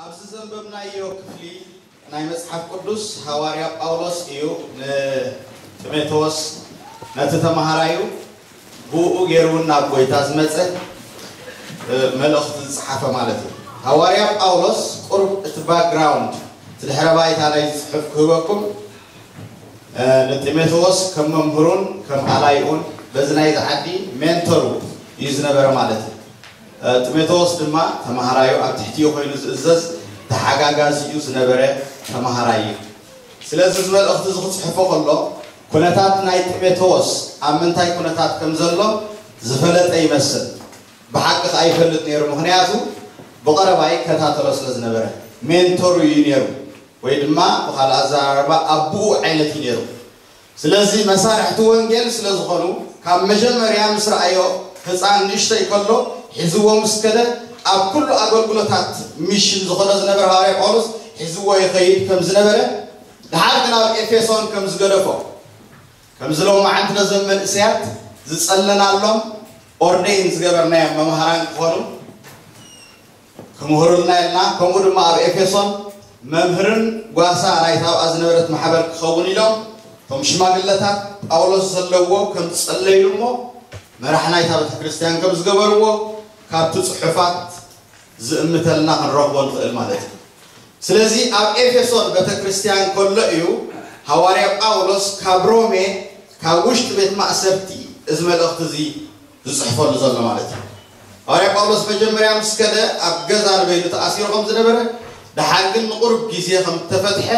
ኣብዚ ዘንበብናዮ ክፍሊ ናይ መጽሓፍ ቅዱስ፣ ሃዋርያ ጳውሎስ እዩ ንጢሞቴዎስ፣ ነቲ ተማሃራዩ፣ ብኡ ገይሩ ናብ ጎይታ ዝመጸ፣ እ፣ መልእኽቲ ዝጸሓፈ ማለት እዩ። ሃዋርያ ጳውሎስ፣ ቁሩብ እቲ ባክግራውንድ፣ እቲ ድሕረ ባይታ ናይ ጽሑፍ ክህበኩም፣ እ፣ ንጢሞቴዎስ ከም መምህሩን ከም ኣላይኡን፣ በዚ ናይዚ ዓዲ ሜንተሩ እዩ ዝነበረ ማለት እዩ። እ፣ ጢሞቴዎስ ድማ ተማሃራዩ፣ ኣብ ትሕቲኡ ኮይኑ ዝእዘዝ ተሓጋጋዚኡ ዝነበረ ተማሃራይ እዩ። ስለዚ እዚ መልእኽቲ እዚ ክጽሕፎ ከሎ፣ ኩነታት ናይ ጢሞቴዎስ ኣብ ምንታይ ኩነታት ከም ዘሎ ዝፈለጠ ይመስል። ብሓቂ ከኣ ይፈልጥ ነይሩ፣ ምኽንያቱ ብቐረባ ይከታተሎ ስለ ዝነበረ። ሜንተሩ እዩ ነይሩ፣ ወይ ድማ ብኻልእ ኣዘራርባ ኣቦኡ ዓይነት እዩ ነይሩ። ስለዚ መሳርሕቲ ወንጌል ስለ ዝኾኑ፣ ካብ መጀመርያ ምስ ረኣዮ፣ ህፃን ንእሽተይ ከሎ ሒዝዎ ምስ ከደ፣ ኣብ ኩሉ ኣገልግሎታት ሚሽን ዝኾኖ ዝነበረ ሃዋርያ ጳውሎስ ሒዝዎ ይኸይድ ከም ዝነበረ፣ ደሓር ግን ኣብ ኤፌሶን ከም ዝገደፎ፣ ከምዚ ሎማዓንቲ ነዞም መንእሰያት ዝጸለናሎም፣ ኦርደይን ዝገበርናዮም መምሃራን ክኾኑ ክምህሩልና ኢልና፣ ከምኡ ድማ ኣብ ኤፌሶን መምህርን ጓሳ ናይታ ኣብኣ ዝነበረት ማሕበር ክኸውን ኢሎም፣ እቶም ሽማግለታት ጳውሎስ ዘለዎ ከም ዝጸለዩ እሞ፣ መራሕ ናይታ ቤተ ክርስቲያን ከም ዝገበርዎ ካብቲ ጽሑፋት ዝእምተልና ክንረኽቦ ንኽእል ማለት እዩ። ስለዚ ኣብ ኤፌሶን ቤተ ክርስቲያን ከሎ እዩ ሃዋርያ ጳውሎስ ካብ ሮሜ፣ ካብ ውሽጢ ቤት ማእሰርቲ፣ እዚ መልእኽቲ እዚ ዝጽሕፈሉ ዘሎ ማለት እዩ። ሃዋርያ ጳውሎስ መጀመርያ ምስ ከደ ኣብ ገዛ ንበይኑ ተኣሲሩ ከም ዝነበረ፣ ደሓር ግን ንቑሩብ ግዜ ከም እተፈትሐ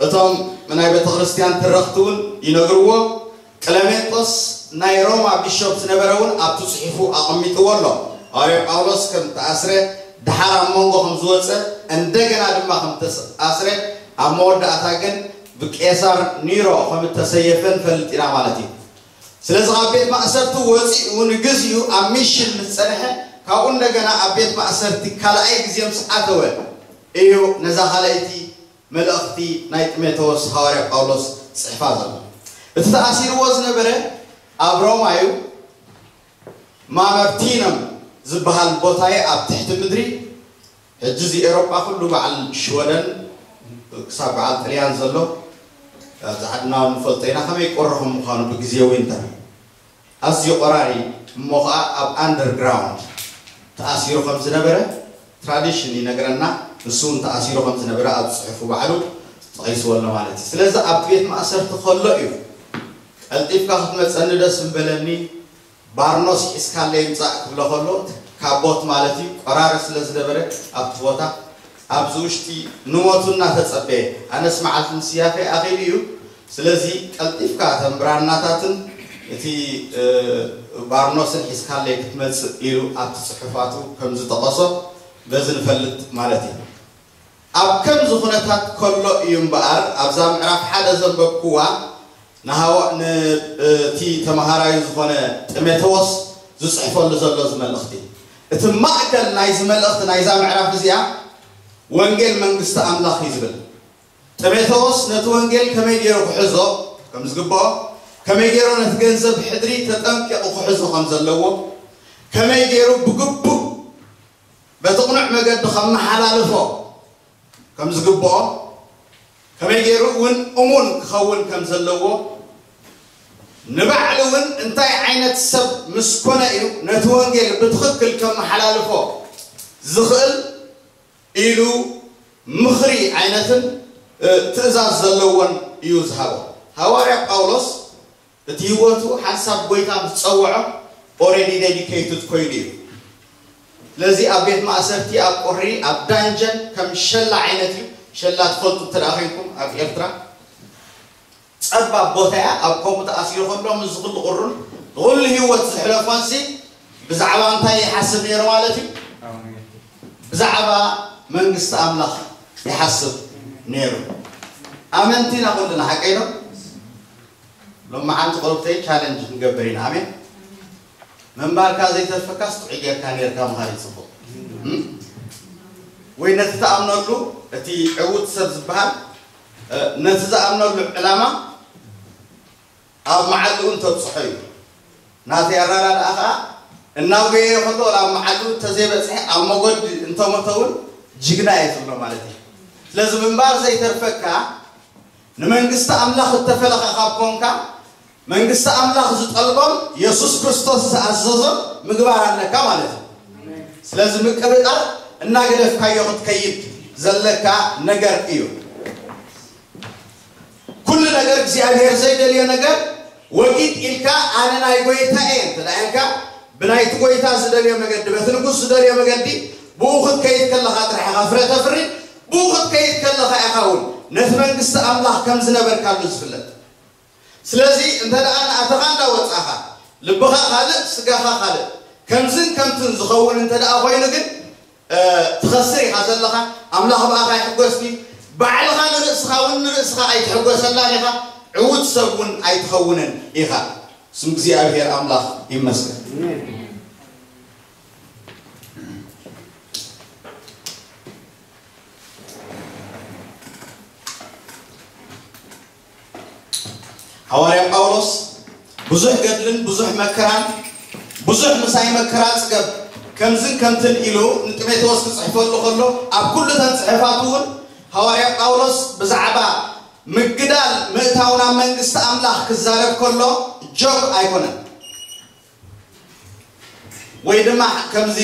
እቶም ናይ ቤተ ክርስቲያን ተረኽቲ እውን ይነግርዎ። ቅለሜንጦስ ናይ ሮማ ቢሾፕ ዝነበረ እውን ኣብቲ ጽሑፉ ኣቐሚጥዎ ኣሎ። ሃዋርያ ጳውሎስ ከም ተኣስረ፣ ደሓር ኣብ መንጎ ከም ዝወጸ፣ እንደገና ድማ ከም ተኣስረ፣ ኣብ መወዳእታ ግን ብቄሳር ኒሮ ከም እተሰየፈ ንፈልጥ ኢና ማለት እዩ። ስለዚ ካብ ቤት ማእሰርቲ ወጺኡ ንግዚኡ ኣብ ሚሽን ምስ ጸንሐ፣ ካብኡ እንደገና ኣብ ቤት ማእሰርቲ ካልኣይ ግዜ ምስ ኣተወ እዩ ነዛ ካልኣይቲ መልእኽቲ ናይ ጢሞቴዎስ ሃዋርያ ጳውሎስ ጽሕፋ ዘሎ። እቲ ተኣሲርዎ ዝነበረ ኣብ ሮማ እዩ። ማመርቲኖም ዝበሃል ቦታ እዩ ኣብ ትሕቲ ምድሪ። ሕጂ እዚ ኤውሮጳ ኩሉ በዓል ሽወደን ክሳብ በዓል ጥልያን ዘሎ ኣብዚ ዓድና እውን ንፈልጦ ኢና ከመይ ቁሪ ከም ምዃኑ ብግዜ ዊንተር። ኣዝዩ ቆራሪ እሞ ኸኣ ኣብ ኣንደርግራውንድ ተኣሲሩ ከም ዝነበረ ትራዲሽን ይነግረና። ንሱ እውን ተኣሲሩ ከም ዝነበረ ኣብ ጽሑፉ ባዕሉ ተጠቒስዎ ኣሎ ማለት እዩ። ስለዚ ኣብ ቤት ማእሰርቲ ከሎ እዩ ቀልጢፍካ ክትመጸኒ ደስ ምበለኒ፣ ባርኖስ ሒዝካለይ ምጻእ ክብሎ ከሎ፣ ካቦት ማለት እዩ፣ ቆራሪ ስለ ዝነበረ ኣብቲ ቦታ፣ ኣብዚ ውሽጢ ንሞቱ እናተጸበየ፣ ኣነስ መዓልቲ ምስያፈይ ኣኺሉ እዩ። ስለዚ ቀልጢፍካ እተን ብራናታትን እቲ፣ እ፣ ባርኖስን ሒዝካለይ ክትመጽእ ኢሉ ኣብቲ ጽሑፋቱ ከም ዝጠቐሶ በዚ ንፈልጥ ማለት እዩ። ኣብ ከምዚ ኩነታት ከሎ እዩ እምበኣር ኣብዛ ምዕራፍ ሓደ ዘንበብክዋ ንሃዋ-፣ ን-፣ እቲ ተመሃራዩ ዝኾነ ጢሞቴዎስ ዝጽሕፈሉ ዘሎ እዚ መልእኽቲ። እቲ ማእከል ናይዚ መልእኽቲ ናይዛ ምዕራፍ እዚኣ ወንጌል መንግስቲ ኣምላኽ እዩ ዝብል። ጢሞቴዎስ ነቲ ወንጌል ከመይ ገይሩ ክሕዞ ከም ዝግብኦ፣ ከመይ ገይሩ ነቲ ገንዘብ ሕድሪ ተጠንቂቑ ክሕዞ ከም ዘለዎ፣ ከመይ ገይሩ ብግቡእ በቲ ቅኑዕ መገዲ ከመሓላልፎ ከም ዝግብኦ፣ ከመይ ገይሩ እውን እሙን ክኸውን ከም ዘለዎ፣ ንባዕሉ እውን እንታይ ዓይነት ሰብ ምስ ኮነ እዩ ነቲ ወንጌል ብትኽክል ከመሓላልፎ ዝኽእል ኢሉ ምኽሪ ዓይነትን፣ እ፣ ትእዛዝ ዘለዎን እዩ ዝሃቦ። ሃዋርያ ጳውሎስ እቲ ህይወቱ ሓንሳብ ጎይታ ምስ ጸውዖ ኦሬዲ ዴዲኬትድ ኮይኑ እዩ። ስለዚ ኣብ ቤት ማእሰርቲ፣ ኣብ ቁሪ፣ ኣብ ዳንጀን ከም ሸላ ዓይነት እዩ። ሸላ ትፈልጡ እንተ ደኣ ኮይንኩም ኣብ ኤርትራ ጸባብ ቦታ እያ። ኣብ ከምኡ ተኣሲሩ ከሎ ምስዚ ኩሉ ቁሩን ንኹሉ ህይወት ዘሕለፎንሲ ብዛዕባ እንታይ ይሓስብ ነይሩ ማለት እዩ? ብዛዕባ መንግስቲ ኣምላኽ ይሓስብ ነይሩ። ኣመንቲ ኢና ኩልና፣ ሓቀይ ዶ? ሎማዓንቲ ቁሩብተይ ቻለንጅ ክንገብር ኢና። ኣሜን። ምንባርካ ዘይተርፈካስ ጥዑይ ጌርካ ኔርካ ምኻድ እዩ ጽቡቕ። እም? ወይ ነቲ ትኣምነሉ፣ እቲ ዕዉት ሰብ ዝበሃል፣ እ፣ ነቲ ዝኣምነሉ ዕላማ ኣብ መዓልኡ እንተብጽሖ እዩ። ናተይ ኣረዳድኣ ኸኣ እናጎየየ ከሎ ናብ መዓልኡ እንተዘይበጽሐ፣ ኣብ መገዲ እንተሞተ እውን ጅግና እየ ዝብሎ ማለት እዩ። ስለዚ ምንባር ዘይተርፈካ፣ ንመንግስቲ ኣምላኽ እተፈለኻ ካብ ኮንካ፣ መንግስቲ ኣምላኽ ዝጠልቦን የሱስ ክርስቶስ ዝኣዘዞን ምግባር ኣለካ ማለት እዩ። ስለዚ ምቅብጣር እናገደፍካዮ ክትከይድ ዘለካ ነገር እዩ። ኩሉ ነገር እግዚኣብሔር ዘይደልዮ ነገር ወጊድ ኢልካ፣ ኣነ ናይ ጎይታ እየ እንተ ደኣ ኢልካ፣ ብናይቲ ጎይታ ዝደልዮ መገዲ፣ በቲ ንጉስ ዝደልዮ መገዲ ብኡ ክትከይድ ከለኻ ጥራሕ ኢኻ ፍረ ተፍሪ። ብኡ ክትከይድ ከለኻ ኢኻ እውን ነቲ መንግስቲ ኣምላኽ ከም ዝነበርካሉ ዝፍለጥ። ስለዚ እንተ ደኣ እናኣተኻ እንዳወጻኻ፣ ልብኻ ካልእ ስጋኻ ካልእ፣ ከምዝን ከምትን ዝኸውን እንተ ደኣ ኮይኑ ግን፣ ትኸስር ኢኻ ዘለኻ። ኣምላኽ ብኣኻ ይሕጎስ ድዩ? ባዕልኻ ንርእስኻ እውን ንርእስኻ ኣይትሕጎሰላን ኢኻ። ዕዉት ሰብ እውን ኣይትኸውንን ኢኻ። ስም እግዚኣብሔር ኣምላኽ ይመስገን። ሃዋርያ ጳውሎስ ብዙሕ ገድልን ብዙሕ መከራን፣ ብዙሕ ምሳይ መከራ ጽገብ፣ ከምዝን ከምትን ኢሉ ንጢሞቴዎስ ክጽሕፈሉ ከሎ፣ ኣብ ኩሉ እተን ጽሑፋቱ እውን ሃዋርያ ጳውሎስ ብዛዕባ ምግዳል ምእታው ናብ መንግስቲ ኣምላኽ ክዛረብ ከሎ ጆክ ኣይኮነን። ወይ ድማ ከምዚ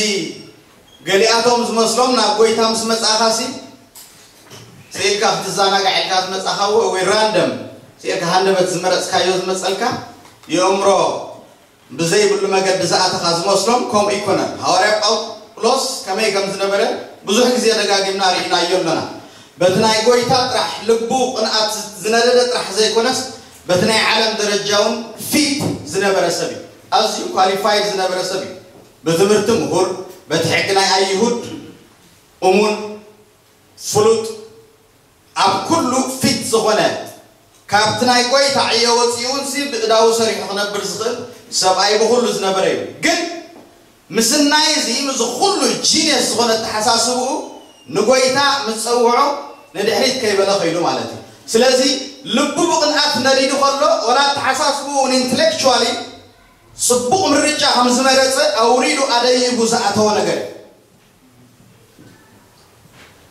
ገሊኣቶም ዝመስሎም ናብ ጎይታ ምስ መጻእኻሲ ስኢልካ ክትዘናጋዕ ኢልካ ዝመጻኻ ወይ ራንደም ስኢልካ ሃንደበት ዝመረጽካዮ ዝመጸልካ የእምሮ ብዘይብሉ መገዲ ዝኣተኻ ዝመስሎም ከምኡ ኣይኮነን። ሃዋርያ ጳውሎስ ከመይ ከም ዝነበረ ብዙሕ ግዜ ደጋጊምና ርኢናዮ ኣለና። በቲ ናይ ጎይታ ጥራሕ ልቡ ቅንኣት ዝነደደ ጥራሕ ዘይኮነስ በቲ ናይ ዓለም ደረጃ እውን ፊት ዝነበረ ሰብ እዩ። ኣዝዩ ኳሊፋይድ ዝነበረ ሰብ እዩ። ብትምህርቲ ምሁር፣ በቲ ሕጊ ናይ ኣይሁድ እሙን፣ ፍሉጥ፣ ኣብ ኩሉ ፊት ዝኾነ፣ ካብቲ ናይ ጎይታ ዕዮ ወፂኡ እውን ሲ ብእዳዉ ሰሪሑ ክነብር ዝኽእል ሰብኣይ ብኹሉ ዝነበረ እዩ። ግን ምስናይ እዚ፣ ምስዚ ኩሉ ጂኒየስ ዝኾነ ኣተሓሳስብኡ ንጎይታ ምስ ጸውዖ ንድሕሪት ከይበለ ኸይዱ ማለት እዩ። ስለዚ ልቡ ብቕንኣት ነዲዱ ከሎ፣ ወላ ኣተሓሳስብኡ ንኢንተሌክቹዋሊ ጽቡቕ ምርጫ ከም ዝመረጸ ኣውሪዱ ኣደይቡ ዝኣተወ ነገር እዩ።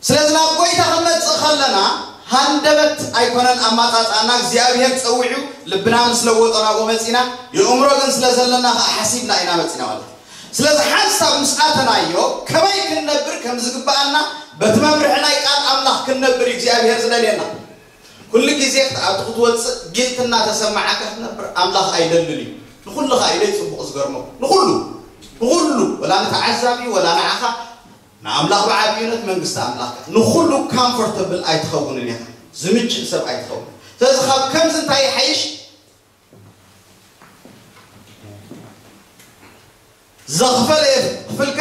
ስለዚ ናብ ጎይታ ክንመጽእ ከለና ሃንደበት ኣይኮነን ኣማጻጽኣና፣ እግዚኣብሔር ጸዊዑ ልብና ምስ ለወጦ ናብኡ መጺና፣ የእምሮ ግን ስለ ዘለና ከኣ ሓሲብና ኢና መጺና ማለት እዩ። ስለዚ ሓንሳብ ምስ ኣተናዮ ከመይ ክንነብር ከም ዝግብኣና በቲ መምርሒ ናይ ቃል ኣምላኽ ክንነብር እዩ እግዚኣብሔር ዝደልየና። ኩሉ ግዜ ክትኣቱ ክትወጽእ ጊልት እናተሰማዓካ ክትነብር ኣምላኽ ኣይደልን እዩ። ንኹሉ ከኣ ኢለ ጽቡቕ ዝገርመኩም። ንኹሉ፣ ንኹሉ፣ ወላ ንተዓዛቢ፣ ወላ ንዓኻ፣ ንኣምላኽ ብዓብዩ ነቲ መንግስቲ ኣምላኽ ከኣ ንኹሉ ካምፎርተብል ኣይትኸውንን ኢኻ። ዝምችእ ሰብ ኣይትኸውን። ስለዚ ካብ ከምዚ እንታይ ይሓይሽ? ዘኽፈለ የኽፍልካ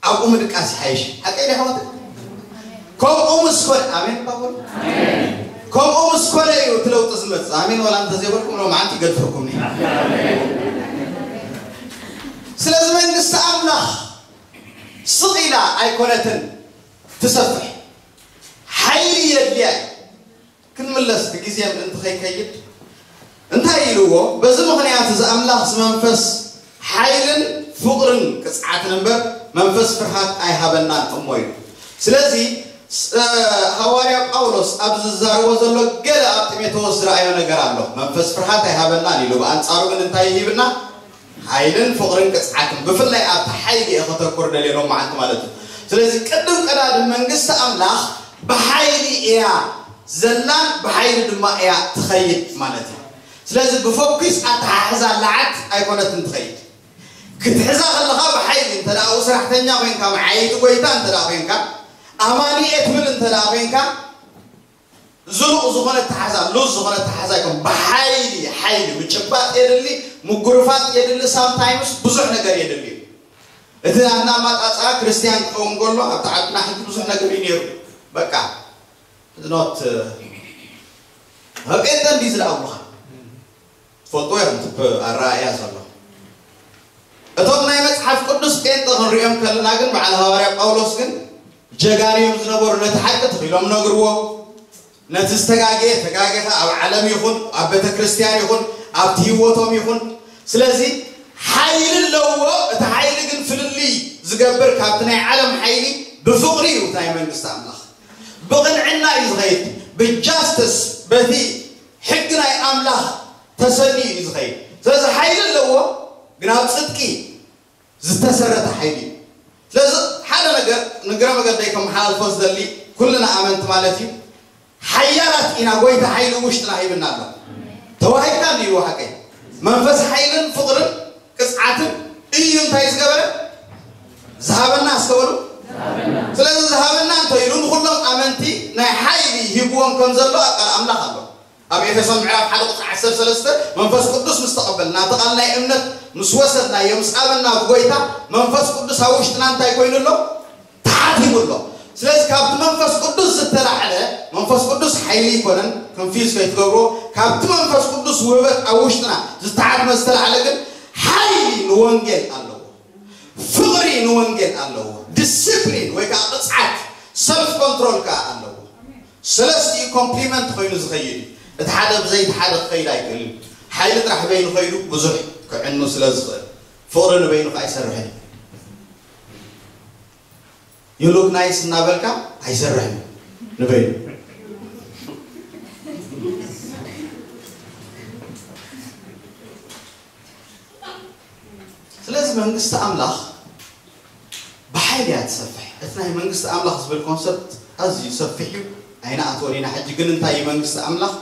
ኣብኡ ምድቃስ ይሓይሽ። ሓቀይ ዶ ኣሕዋት? ከምኡ ምስ ኮነ፣ ኣሜን ባቦል። ከምኡ ምስ ኮነ እዩ እቲ ለውጢ ዝመጽእ። ኣሜን ዋላ እንተዘይበልኩም ሎማዓንቲ ይገድፈኩም እየ። ስለዚ መንግስቲ ኣምላኽ ስቕ ኢላ ኣይኮነትን ትሰፍሕ። ሓይሊ የድልያ እዩ። ክንምለስ እቲ ግዜ ምእንቲ ከይከይድ እንታይ ኢልዎ? በዚ ምኽንያት እዚ ኣምላኽ እዚ መንፈስ ሓይልን ፍቕርን ቅጽዓትን እምበር መንፈስ ፍርሃት ኣይሃበናን እሞ ኢሉ። ስለዚ ስ-፣ ሃዋርያ ጳውሎስ ኣብዚ ዝዛረቦ ዘሎ ገለ ኣብ ጢሞቴዎስ ዝረኣዮ ነገር ኣሎ። መንፈስ ፍርሃት ኣይሃበናን ኢሉ፣ ብኣንጻሩ ግን እንታይ ይሂብና? ሓይልን ፍቕርን ቅጽዓትን። ብፍላይ ኣብቲ ሓይሊ እየ ከተኩር ደልየ ሎም መዓልቲ ማለት እዩ። ስለዚ ቅድም ቀዳድም መንግስቲ ኣምላኽ ብሓይሊ እያ ዘላን ብሓይሊ ድማ እያ ትኸይድ ማለት እዩ። ስለዚ ብፎኪስ ኣተሓሕዛ ለዓት ኣይኮነትን ትኸይድ። ክትሕዛ ከለኻ ብሓይሊ እንተ ደኣ ሰራሕተኛ ኮይንካ፣ መዓየይቲ ጎይታ እንተ ደኣ ኮይንካ፣ ኣማኒ እየ ትብል እንተ ደኣ ኮይንካ፣ ዝሩቕ ዝኾነ ኣተሓሕዛ፣ ሉዝ ዝኾነ ኣተሓሕዛ ኣይኮን። ብሓይሊ፣ ሓይሊ ምጭባጥ የድሊ፣ ምጉርፋጥ የድሊ፣ ሳምታይምስ ብዙሕ ነገር የድሊ እዩ። እቲ ኣናማጣጽኣ ክርስትያን ክኸውን ከሎ ኣብቲ ዓድና ሕጂ ብዙሕ ነገር እዩ ነይሩ። በቃ፣ it's not፣ እ፣ ጴንጠ እንዲ ዝለኣኹኻ። ትፈልጥዎ ኢኹም እቲ ኣረኣእያ ዘሎ። እቶም ናይ መጽሓፍ ቅዱስ ጴንጠ ክንሪኦም ከለና ግን በዓል ሃዋርያ ጳውሎስ ግን ጀጋኑ እዮም ዝነበሩ። ነቲ ሓቂ ተኺሎም ነግርዎ። ነቲ ዝተጋገየ ተጋገኻ ኣብ ዓለም ይኹን ኣብ ቤተ ክርስቲያን ይኹን ኣብቲ ህይወቶም ይኹን። ስለዚ ሓይሊ ኣለዎ። እቲ ሓይሊ ግን ፍልልይ ዝገብር ካብቲ ናይ ዓለም ሓይሊ ብፍቕሪ እዩ ናይ መንግስቲ ኣምላኽ። ብቕንዕና እዩ ዝኸይድ። ብጃስትስ፣ በቲ ሕጊ ናይ ኣምላኽ ተሰልዩ እዩ ዝኸይድ። ስለዚ ሓይሊ ኣለዎ፣ ግን ኣብ ጽድቂ ዝተሰረተ ሓይሊ እዩ። ስለዚ ሓደ ነገር ንግረ መገደይ ከመሓላልፎ ዝደሊ፣ ኩልና ኣመንቲ ማለት እዩ፣ ሓያላት ኢና፣ ጎይታ ሓይሊ ውሽጥና ሂብና ኣሎ። ተዋሂብካ እንዲዩ ሓቀይ መንፈስ ሓይልን ፍቕርን ቅጽዓትን እዩ እንታይ ዝገበረ? ዝሃበና። ኣስተውሉ። ስለዚ ዝሃበና እንተ ኢሉ ንኹሎም ኣመንቲ ናይ ሓይሊ ሂብዎም ከም ዘሎ ኣብ ቃል ኣምላኽ ኣሎ። ኣብ ኤፌሶን ምዕራፍ ሓደ ቁጽሪ ዓሰርተ ሰለስተ መንፈስ ቅዱስ ምስ ተቐበልና፣ እቲ ቃል ናይ እምነት ምስ ወሰድናዮ፣ ምስ ኣመንና ብጎይታ፣ መንፈስ ቅዱስ ኣብ ውሽጥና እንታይ ኮይኑ ኣሎ? ተሓቲሙ ኣሎ። ስለዚ ካብቲ መንፈስ ቅዱስ ዝተላዕለ፣ መንፈስ ቅዱስ ሓይሊ ይኮነን፣ ኮንፊዝ ከይትገብርዎ። ካብቲ መንፈስ ቅዱስ ውህበት ኣብ ውሽጥና ዝተሓትመ ዝተላዕለ ግን ሓይሊ ንወንጌል ኣለዎ፣ ፍቕሪ ንወንጌል ኣለዎ፣ ዲስፕሊን ወይ ከዓ ቅፅዓት፣ ሰልፍ ኮንትሮል ከዓ ኣለዎ። ሰለስቲኡ ኮምፕሊመንት ኮይኑ ዝኸይድ እዩ። እቲ ሓደ ብዘይ እቲ ሓደ ክኸይድ ኣይክእልን። ሓይሊ ጥራሕ በይኑ ኸይዱ ብዙሕ ክዕኑ ስለ ዝኽእል፣ ፍቕሪ ንበይኑ ከዓ ኣይሰርሕን እዩ። ዩ ሉክ ናይስ እናበልካ ኣይሰርሕን እዩ ንበይኑ። ስለዚ መንግስቲ ኣምላኽ ብሓይሊ እያ ትሰፍሕ። እቲ ናይ መንግስቲ ኣምላኽ ዝብል ኮንሰፕት ኣዝዩ ሰፊሕ እዩ። ኣይንኣትወን ኢና። ሕጂ ግን እንታይ እዩ መንግስቲ ኣምላኽ?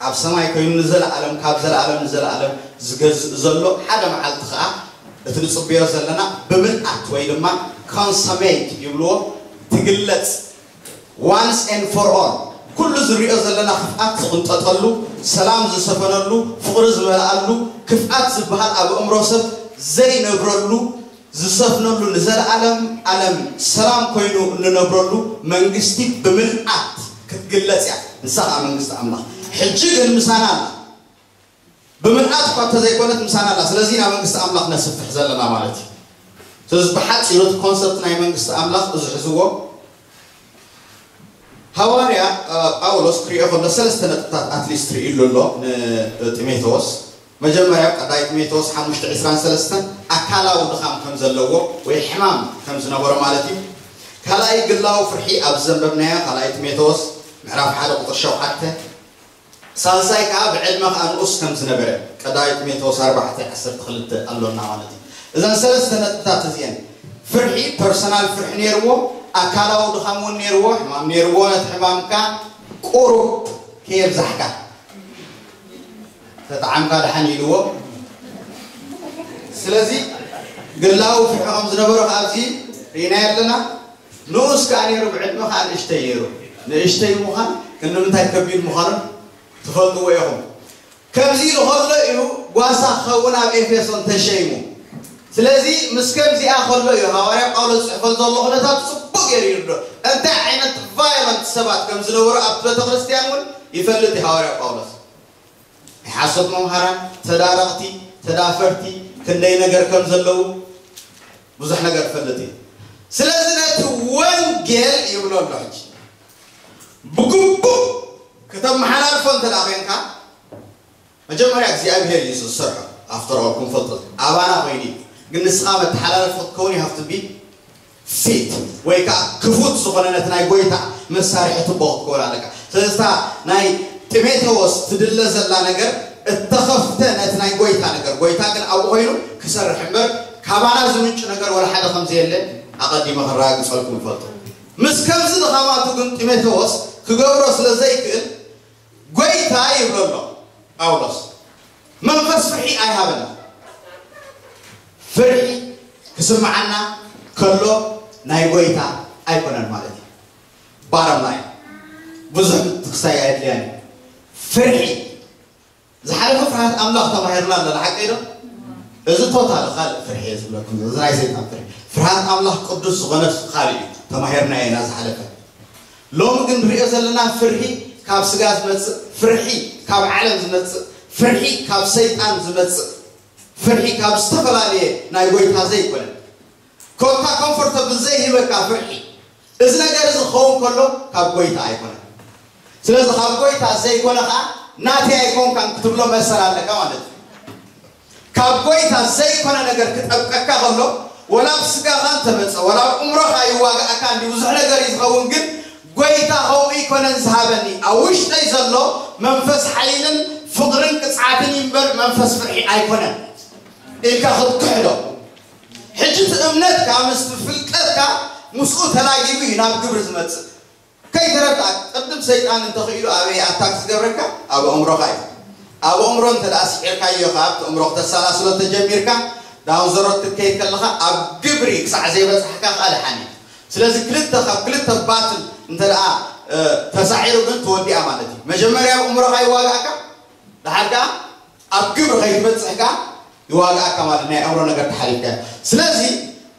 ኣብ ሰማይ ኮይኑ ንዘለኣለም፣ ካብ ዘለኣለም ንዘለኣለም ዝገዝእ ዘሎ፣ ሓደ መዓልቲ ከዓ እቲ ንጽበዮ ዘለና ብምልኣት ወይ ድማ ኮንሰሜት ይብልዎ፣ ትግለጽ፣ ዋንስ ኤንድ ፎር ኦል። ኩሉ ዝሪኦ ዘለና ክፍኣት ዝቕንጠጠሉ፣ ሰላም ዝሰፈነሉ፣ ፍቕሪ ዝመልኣሉ፣ ክፍኣት ዝበሃል ኣብ ኣእምሮ ሰብ ዘይነብረሉ፣ ዝሰፍነሉ፣ ንዘለኣለም ኣለም ሰላም ኮይኑ እንነብረሉ መንግስቲ ብምልኣት ክትግለጽ እያ። ንሳ ከዓ መንግስቲ ኣምላኽ። ሕጂ ግን ምሳና ኣላ። ብምልኣት እኳ እንተዘይኮነት ምሳና ኣላ። ስለዚ ኢና መንግስቲ ኣምላኽ ነስፍሕ ዘለና ማለት እዩ። ስለዚ ብሓፂሩ እቲ ኮንሰፕት ናይ መንግስቲ ኣምላኽ እዚ ሕዝዎ። ሃዋርያ ጳውሎስ ክሪኦ ከሎ ሰለስተ ነጥብታት ኣትሊስት ርእሉ ኣሎ ንጢሞቴዎስ። መጀመርያ ቀዳይ ጢሞቴዎስ ሓሙሽተ ዕስራን ሰለስተን ኣካላዊ ድኻም ከም ዘለዎ ወይ ሕማም ከም ዝነበሮ ማለት እዩ። ካልኣይ ግላዊ ፍርሒ ኣብ ዘንበብናዮ ካልኣይ ጢሞቴዎስ ምዕራፍ ሓደ ቁፅሪ ሸውዓተ። ሳልሳይ ከዓ ብዕድመ ከዓ ንኡስ ከም ዝነበረ ቀዳይ ጢሞቴዎስ ኣርባዕተ ዓሰርተ ክልተ ኣሎና ማለት እዩ። እዘን ሰለስተ ነጥብታት እዚአን፣ ፍርሒ፣ ፐርሰናል ፍርሒ ነይርዎ፣ ኣካላዊ ድኻም እውን ነይርዎ፣ ሕማም ነይርዎ። ነቲ ሕማምካ ቁሩብ ከየብዛሕካ ተጠዓምካ ደሓን ኢልዎ። ስለዚ ግላዊ ፍርሒ ከም ዝነበሮ ኣብዚ ርኢና ኣለና። ንኡስ ከዓ ነይሩ፣ ብዕድመ ከዓ ንእሽተይ ነይሩ። ንእሽተይ ምዃን ክንምንታይ ከቢድ ምዃኑ ትፈልጥዎ ኢኹም። ከምዚ ኢሉ ከሎ እዩ ጓሳ ክኸውን ኣብ ኤፌሶን ተሸይሙ። ስለዚ ምስ ከምዚኣ ከሎ እዩ ሃዋርያ ጳውሎስ ዝፅሕፈል ዘሎ ኩነታት ፅቡቅ ገይሩ ይርዶ። እንታይ ዓይነት ቫዮለንት ሰባት ከም ዝነበሩ ኣብቲ ቤተክርስትያን እውን ይፈልጥ እዩ ሃዋርያ ጳውሎስ። ናይ ሓሶት መምሃራን፣ ተዳረቕቲ፣ ተዳፈርቲ ክንደይ ነገር ከም ዘለዉ ብዙሕ ነገር ይፈልጥ እዩ። ስለዚ ነቲ ወንጌል ይብሎ ኣሎ ሕጂ ብግቡእ ክተመሓላልፎ እንተ ደኣ ኮንካ፣ መጀመርያ እግዚኣብሔር እዩ ዝሰርሖ። ኣፍተር ኦል ክንፈልጦ ኣባና ኮይኑ እዩ። ግን ንስኻ መተሓላለፊ ክትከውን you have to be fit ወይ ከዓ ክፉት ዝኾነ ነቲ ናይ ጎይታ መሳርሒ ትቦ ክትከውን ኣለካ። ስለዚ እታ ናይ ጢሞቴዎስ ትድለ ዘላ ነገር እተኸፍተ ነቲ ናይ ጎይታ ነገር፣ ጎይታ ግን ኣብኡ ኮይኑ ክሰርሕ እምበር ካባና ዝምንጩ ነገር ወላ ሓደ ከም ዘየለ ኣቐዲመ ክረጋግጸልኩም ይፈልጡ። ምስ ከምዚ ድኻማቱ ግን ጢሞቴዎስ ክገብሮ ስለ ዘይክእል ጎይታ ይብሎ ኣሎ ጳውሎስ። መንፈስ ፍርሒ ኣይሃበና። ፍርሒ ክስምዓና ከሎ ናይ ጎይታ ኣይኮነን ማለት እዩ። ባረም ላይ ብዙሕ ምትክሳይ ኣየድልያን እዩ። ፍርሒ ዝሓለፈ ፍርሃት ኣምላኽ ተማሂርና ኣለና፣ ሓቀይ ዶ? እዚ ቶታል ካልእ ፍርሒ እየ ዝብለኩም፣ እዚ ናይ ሰይጣን ፍርሒ። ፍርሃት ኣምላኽ ቅዱስ ዝኾነ ካልእ እዩ ተማሂርና ኢና ዝሓለፈ። ሎሚ ግን ንሪኦ ዘለና ፍርሒ ካብ ስጋ ዝመጽእ፣ ፍርሒ ካብ ዓለም ዝመጽእ፣ ፍርሒ ካብ ሰይጣን ዝመጽእ፣ ፍርሒ ካብ ዝተፈላለየ ናይ ጎይታ ዘይኮነ፣ ኮታ ኮምፎርተብል ዘይህበካ ፍርሒ። እዚ ነገር እዚ ክኸውን ከሎ ካብ ጎይታ ኣይኮነን። ስለዚ ካብ ጎይታ ዘይኮነ ከዓ ናተይ ኣይኮንካን ክትብሎ መሰል ኣለካ ማለት እዩ። ካብ ጎይታ ዘይኮነ ነገር ክጠብቀካ ከሎ ወላ ኣብ ስጋኻ እንተመጸ፣ ወላ ኣብ እምሮኻ ይዋጋእካ እንዲ ብዙሕ ነገር እዩ ዝኸውን፣ ግን ጎይታ ከምኡ ኣይኮነን ዝሃበኒ። ኣብ ውሽጠይ ዘሎ መንፈስ ሓይልን ፍቕርን ቅጽዓትን እዩ እምበር መንፈስ ፍርሒ ኣይኮነን ኢልካ ክትክሕዶ። ሕጂ እቲ እምነትካ ምስቲ ፍልጠትካ ምስኡ ተላጊቡ እዩ ናብ ግብሪ ዝመጽእ። ከይተረዳእ ቅድም ሰይጣን እንተኽኢሉ ኣበይ ኣታክ ዝገብረካ? ኣብ ኣእምሮኻ እዩ። ኣብ ኣእምሮ እንተ ደኣ ስዒርካዮ ካብ እቲ ኣእምሮ ክተሰላስሎ ተጀሚርካ፣ ዳውን ዘሮት ክትከይድ ከለኻ ኣብ ግብሪ ክሳዕ ዘይበጻሕካ ከኣ ደሓን እዩ። ስለዚ ክልተ ካብ ክልተ ባትል እንተ ደኣ ተሳዒሩ ግን ተወዲኣ ማለት እዩ። መጀመርያ ኣብ ኣእምሮኻ ይዋጋእካ፣ ደሓር ከኣ ኣብ ግብሪ ከይትበጽሕ ከኣ ይዋጋእካ ማለት ናይ ኣእምሮ ነገር ተሓሊፍካ። ስለዚ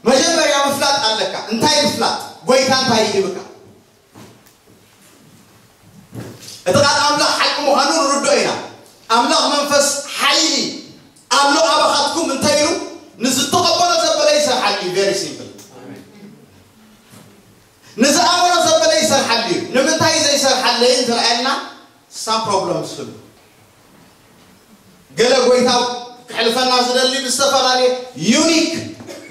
መጀመርያ ምፍላጥ ኣለካ። እንታይ ምፍላጥ? ጎይታ እንታይ ይህብካ? እቲ ቃል ኣምላኽ ሓቂ ምዃኑ ንርድኦ ኢና። ኣምላኽ መንፈስ ሓይሊ ኣሎ ኣባኻትኩም እንታይ ኢሉ? ንዝተቐበሎ ዘበለ ይሰርሓሉ እዩ። Very simple። ንዝኣመኖ ዘበለ ይሰርሓሉ እዩ። ንምንታይ ዘይሰርሓለይ እንተረኣየልና ሳም ፕሮብለምስ ህሉ ገለ ጎይታ ክሕልፈና ዝደሊ ብዝተፈላለየ ዩኒክ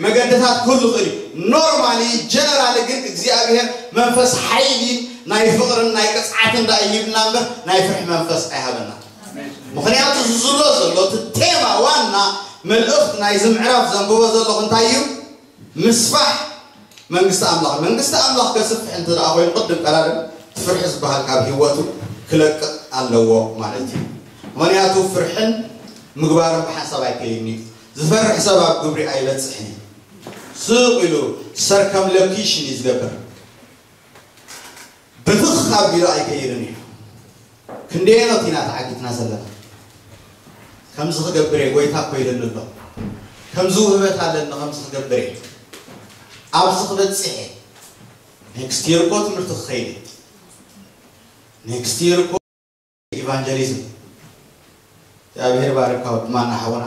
መገድታት ክህሉ ይኽእል እዩ። ኖርማሊ ጀነራሊ ግን እግዚኣብሔር መንፈስ ሓይሊ ናይ ፍቕርን ናይ ቅፅዓትን ዳ ይሂብና እምበር ናይ ፍርሒ መንፈስ ኣይሃበና። ምክንያቱ ዝዝሎ ዘሎ እቲ ቴማ ዋና መልእኽቲ ናይዚ ምዕራፍ ዘንብቦ ዘለኹ እንታይ እዩ? ምስፋሕ መንግስቲ ኣምላኽ። መንግስቲ ኣምላኽ ከስፍሕ እንተ ደኣ ኮይኑ ቅድም ቀዳድም እቲ ፍርሒ ዝበሃል ካብ ህይወቱ ክለቅቕ ኣለዎ ማለት እዩ። ምክንያቱ ፍርሕን ምግባርን ብሓንሳብ ኣይከይድን እዩ። ዝፈርሕ ሰብ ኣብ ግብሪ ኣይበጽሕን እዩ። ስቕ ኢሉ ሰርከምለኪሽን እዩ ዝገብር። ብትኽ ኣቢሉ ኣይከይድን እዩ። ክንደየኖት ኢና ተዓጊትና ዘለና? ከምዚ ክገብር እየ፣ ጎይታ እኮ ኢሉኒ ኣሎ። ከምዚ ውህበት ኣለኒ፣ ከምዚ ክገብር እየ። ኣብዚ ክበጽሕ እየ። ኔክስት ይር እኮ ትምህርቲ ክኸይድ እየ። ኔክስት ይር እኮ ኢቫንጀሊዝም። እግዚኣብሔር ባርካ ወዲ ማና ሓውና።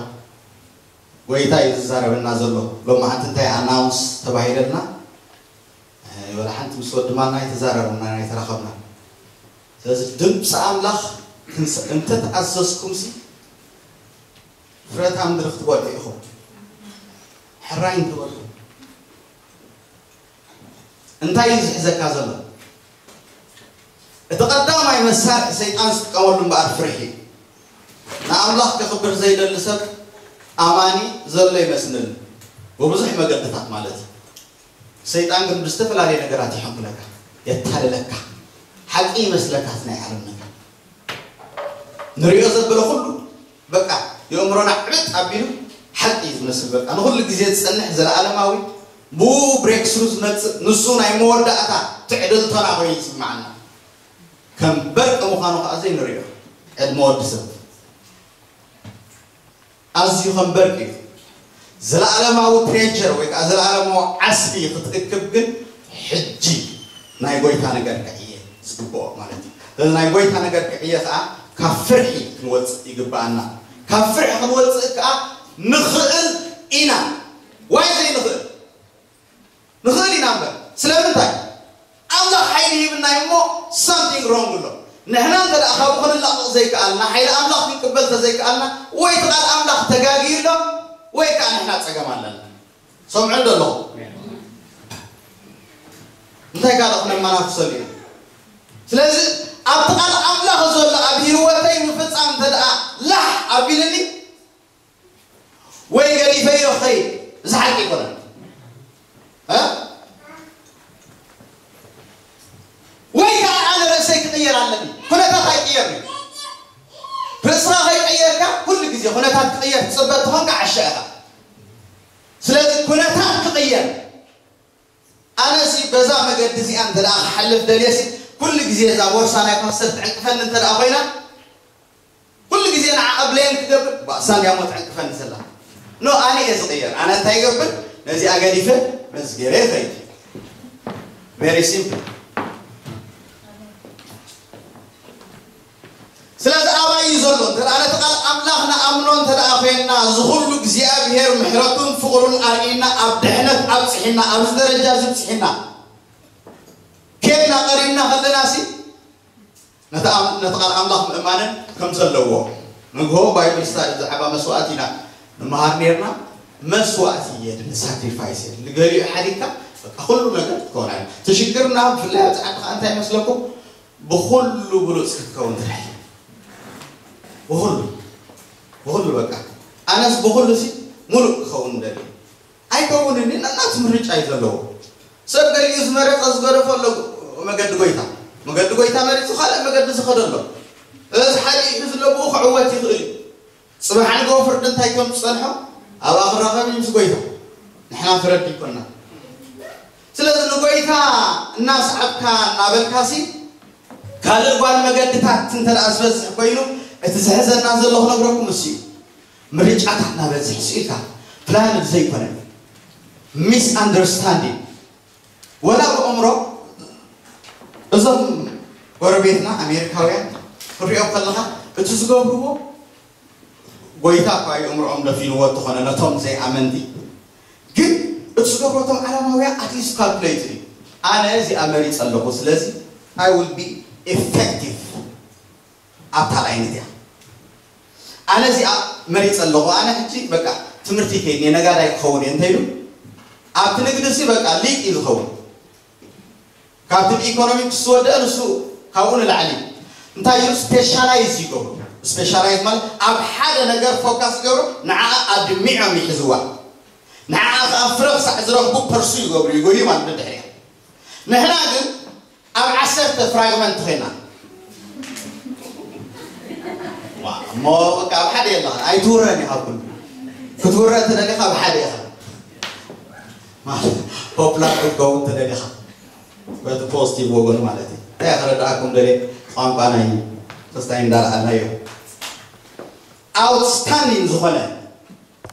ጎይታ እዩ ዝዛረበና ዘሎ። ሎማዓንቲ እንታይ ኣናውንስ ተባሂለልና? ወላ ሓንቲ ምስ ወዲ ማና ኣይተዛረብናን ኣይተራኸብናን። ስለዚ ድምፂ ኣምላኽ ክንስ-፣ እንተተኣዘዝኩምሲ ፍረታ ምድሪ ክትበልዑ ኢኹም። ሕራይ እንተበልኩም እንታይ እዩ ዝሕዘካ ዘሎ? እቲ ቀዳማይ መሳርሒ ሰይጣን ዝጥቀመሉ እምበኣር ፍርሒ እዩ። ንኣምላኽ ከኽብር ዘይደሊ ሰብ ኣማኒ ዘሎ ይመስለኒ፣ ብብዙሕ መገድታት ማለት እዩ። ሰይጣን ግን ብዝተፈላለየ ነገራት ይሐንኩለካ፣ የታልለካ። ሓቂ ይመስለካ እቲ ናይ ዓለም ነገር። ንሪኦ ዘበለ ኩሉ በቃ የእምሮና ዕብጥ ኣቢሉ ሓቂ እዩ ዝመስል። በቃ ንኹሉ ግዜ ዝጸንሕ ዘለኣለማዊ ብኡ ብሬክስሩ ዝመጽእ ንሱ ናይ መወዳእታ ትዕድልቶና ኮይኑ ይስምዓና። ከም በርቂ ምዃኑ ከኣ ዘይንሪኦ ዕድመ ወዲ ሰብ። ኣዝዩ ከም በርቂ እዩ። ዘለኣለማዊ ትሬጀር ወይ ከዓ ዘለኣለማዊ ዓስቢ ክትእክብ ግን ሕጂ ናይ ጎይታ ነገር ክዕየ ዝግብኦ ማለት እዩ። ስለዚ ናይ ጎይታ ነገር ክዕየ ከዓ ካብ ፍርሒ ክንወፅእ ይግብኣና። ካብ ፍርሒ ክንወፅእ ከዓ ንኽእል ኢና። ዋይ ዘይንኽእል? ንኽእል ኢና እምበር። ስለምንታይ? ኣምላኽ ሓይሊ ሂብና እዩ እሞ ሳምቲንግ ሮንግ ኣሎ። ንሕና እንተ ደኣ ካብኡ ክንላቐቕ ዘይከኣልና፣ ሓይሊ ኣምላኽ ክንቅበል ተዘይከኣልና፣ ወይ እቲ ቃል ኣምላኽ ተጋግዩ ኣሎ፣ ወይ ከኣ ንሕና ጸገም ኣለና። ሰምዑ ዶ ኣለኹም? እንታይ ካልእ ክነመናፍሰሉ ኢና? ስለዚ ኣብቲ ቃል ኣምላኽ ዘሎ ኣብ ህይወተይ ምፍጻም እንተ ደኣ ላሕ ኣቢልኒ፣ ወይ ገዲፈዮ ክኸይድ፣ እዚ ሓቂ ኣይኮነን። እ? ወይ ከዓ ኣነ ርእሰይ ክቕየር ኣለኒ። ኩነታት ኣይቅየርን እዩ። ርእስኻ ከይቀየርካ ኩሉ ግዜ ኩነታት ክቕየር ትጽበ እንተኾንካ ዓሻ ኢኻ። ስለዚ ኩነታት ክቕየር፣ ኣነሲ በዛ መገዲ እዚኣ እንተ ደኣ ክሓልፍ ደልየሲ፣ ኩሉ ግዜ እዛ ቦርሳ ናይ ፓስተር ትዕንቅፈኒ እንተ ደኣ ኮይና፣ ኩሉ ግዜ ንዓ ብሌም ክገብር፣ ባእሳ እንድያ እሞ ትዕንቅፈኒ ዘላ። ኖ፣ ኣነ እየ ዝቕየር። ኣነ እንታይ ይገብር? ነዚኣ ገዲፈ መዝገረ ይኸይድ። ቨሪ ሲምፕል። ስለዚ ኣባይ እዩ ዘሎ። እንተ ደኣ ነቲ ቃል ኣምላኽ ንኣምኖ እንተ ደኣ ኮይንና፣ እዚ ኩሉ እግዚኣብሄር ምሕረቱን ፍቕሩን ኣርእይና፣ ኣብ ድሕነት ኣብጽሒና፣ ኣብዚ ደረጃ እዚ ኣብጽሒና፣ ኬድና ቀሪብና ከለናሲ፣ ነቲ ኣም-፣ ነቲ ቃል ኣምላኽ ምእማንን ከም ዘለዎ። ንግሆ ባይብል ስታዲ ብዛዕባ መስዋእቲ ኢና ንመሃር ነይርና። መስዋእቲ የድሊ፣ ሳክሪፋይስ የድሊ። ገሊኡ ሓዲግካ በቃ ኩሉ ነገር ክትከውን ኣለ። እቲ ሽግርና ብፍላይ ኣብ ጻዕዲ ከኣ እንታይ ይመስለኩም? ብኹሉ ብሉጽ ክትከውን ትደሊ። ብኹሉ፣ ብኹሉ በቃ። ኣነስ ብኹሉ ሲ ሙሉእ ክኸውን ደሊ። ኣይከውንን፣ ነናቱ ምርጫ እዩ ዘለዎ። ሰብ ገሊኡ ዝመረጸ ዝገደፎ ኣሎ መገዲ ጎይታ። መገዲ ጎይታ መሪጹ ካልእ መገዲ ዝኸደ ኣሎ። እዚ ሓዲኡ እዚ ለብኡ ክዕወት ይኽእል እዩ። ጽባሕ ንግሆ ፍርዲ እንታይ ከም ዝጸንሖ ኣብኣ ክራኸብ እዩ ምስ ጎይታ። ንሕና ፍረድ ይኮና። ስለዚ ንጎይታ እናሰዓብካ እናበልካሲ ካልእ ጓል መገድታት እንተ ደኣ ዝበዝሕ ኮይኑ፣ እቲ ዝሕዘና ዘሎ ክነግረኩም እሱ እዩ። ምርጫታት እናበዝሕ ስኢልካ ፕላን ዘይኮነ ሚስ ኣንደርስታንዲንግ ወላ ብእምሮ እዞም ጎረቤትና ኣሜሪካውያን ክትሪኦም ከለኻ እቲ ዝገብርዎ ጎይታ እኳ እዩ እምርኦም ደፊንዎ እንተኾነ ነቶም ዘይኣመንቲ ግን እቲ ዝገብሮ እቶም ዓላማውያን ኣትሊስት ካልኩሌት እዩ። ኣነ እዚኣ መሪፀ ኣለኹ፣ ስለዚ I will be effective ኣብታ ላይን እዚኣ። ኣነ እዚኣ መሪፀ ኣለኹ፣ ኣነ ሕጂ በቃ ትምህርቲ ከይድ ነጋዳይ ክኸውን እየ እንተይሉ ኣብቲ ንግዲ ሲ በቃ ሊቅ እዩ ዝኸውን። ካብቲ ብኢኮኖሚክስ ዝወደአ ንሱ ካብኡ ንላዕሊ እንታይ እዩ ስፔሻላይዝ ይገብሩ። ስፔሻላይዝ ማለት ኣብ ሓደ ነገር ፎካስ ይገብሩ፣ ንዓ ኣድሚዖም ይሕዝዋ፣ ንዓ ከዓ ፍረ ክሳዕ ዝረኽቡ ፐርሱ ይገብሩ፣ ይጎዩ ማለት ድሕሪያ። ንሕና ግን ኣብ ዓሰርተ ፍራግመንት ኮይና እሞ በቃ ኣብ ሓደ የለኻ ኣይትውረን ኢኻ። ኩሉ ክትውረ ተደሊኻ ኣብ ሓደ ኢኻ። ፖፕላር ክትከውን ተደሊኻ በቲ ፖዚቲቭ ወገኑ ማለት እዩ። እንታይ ከረዳእኩም ደልየ ቋንቋ ናይ ተስታይ እንዳልዓልናዮ ኣውትስታንዲንግ ዝኾነ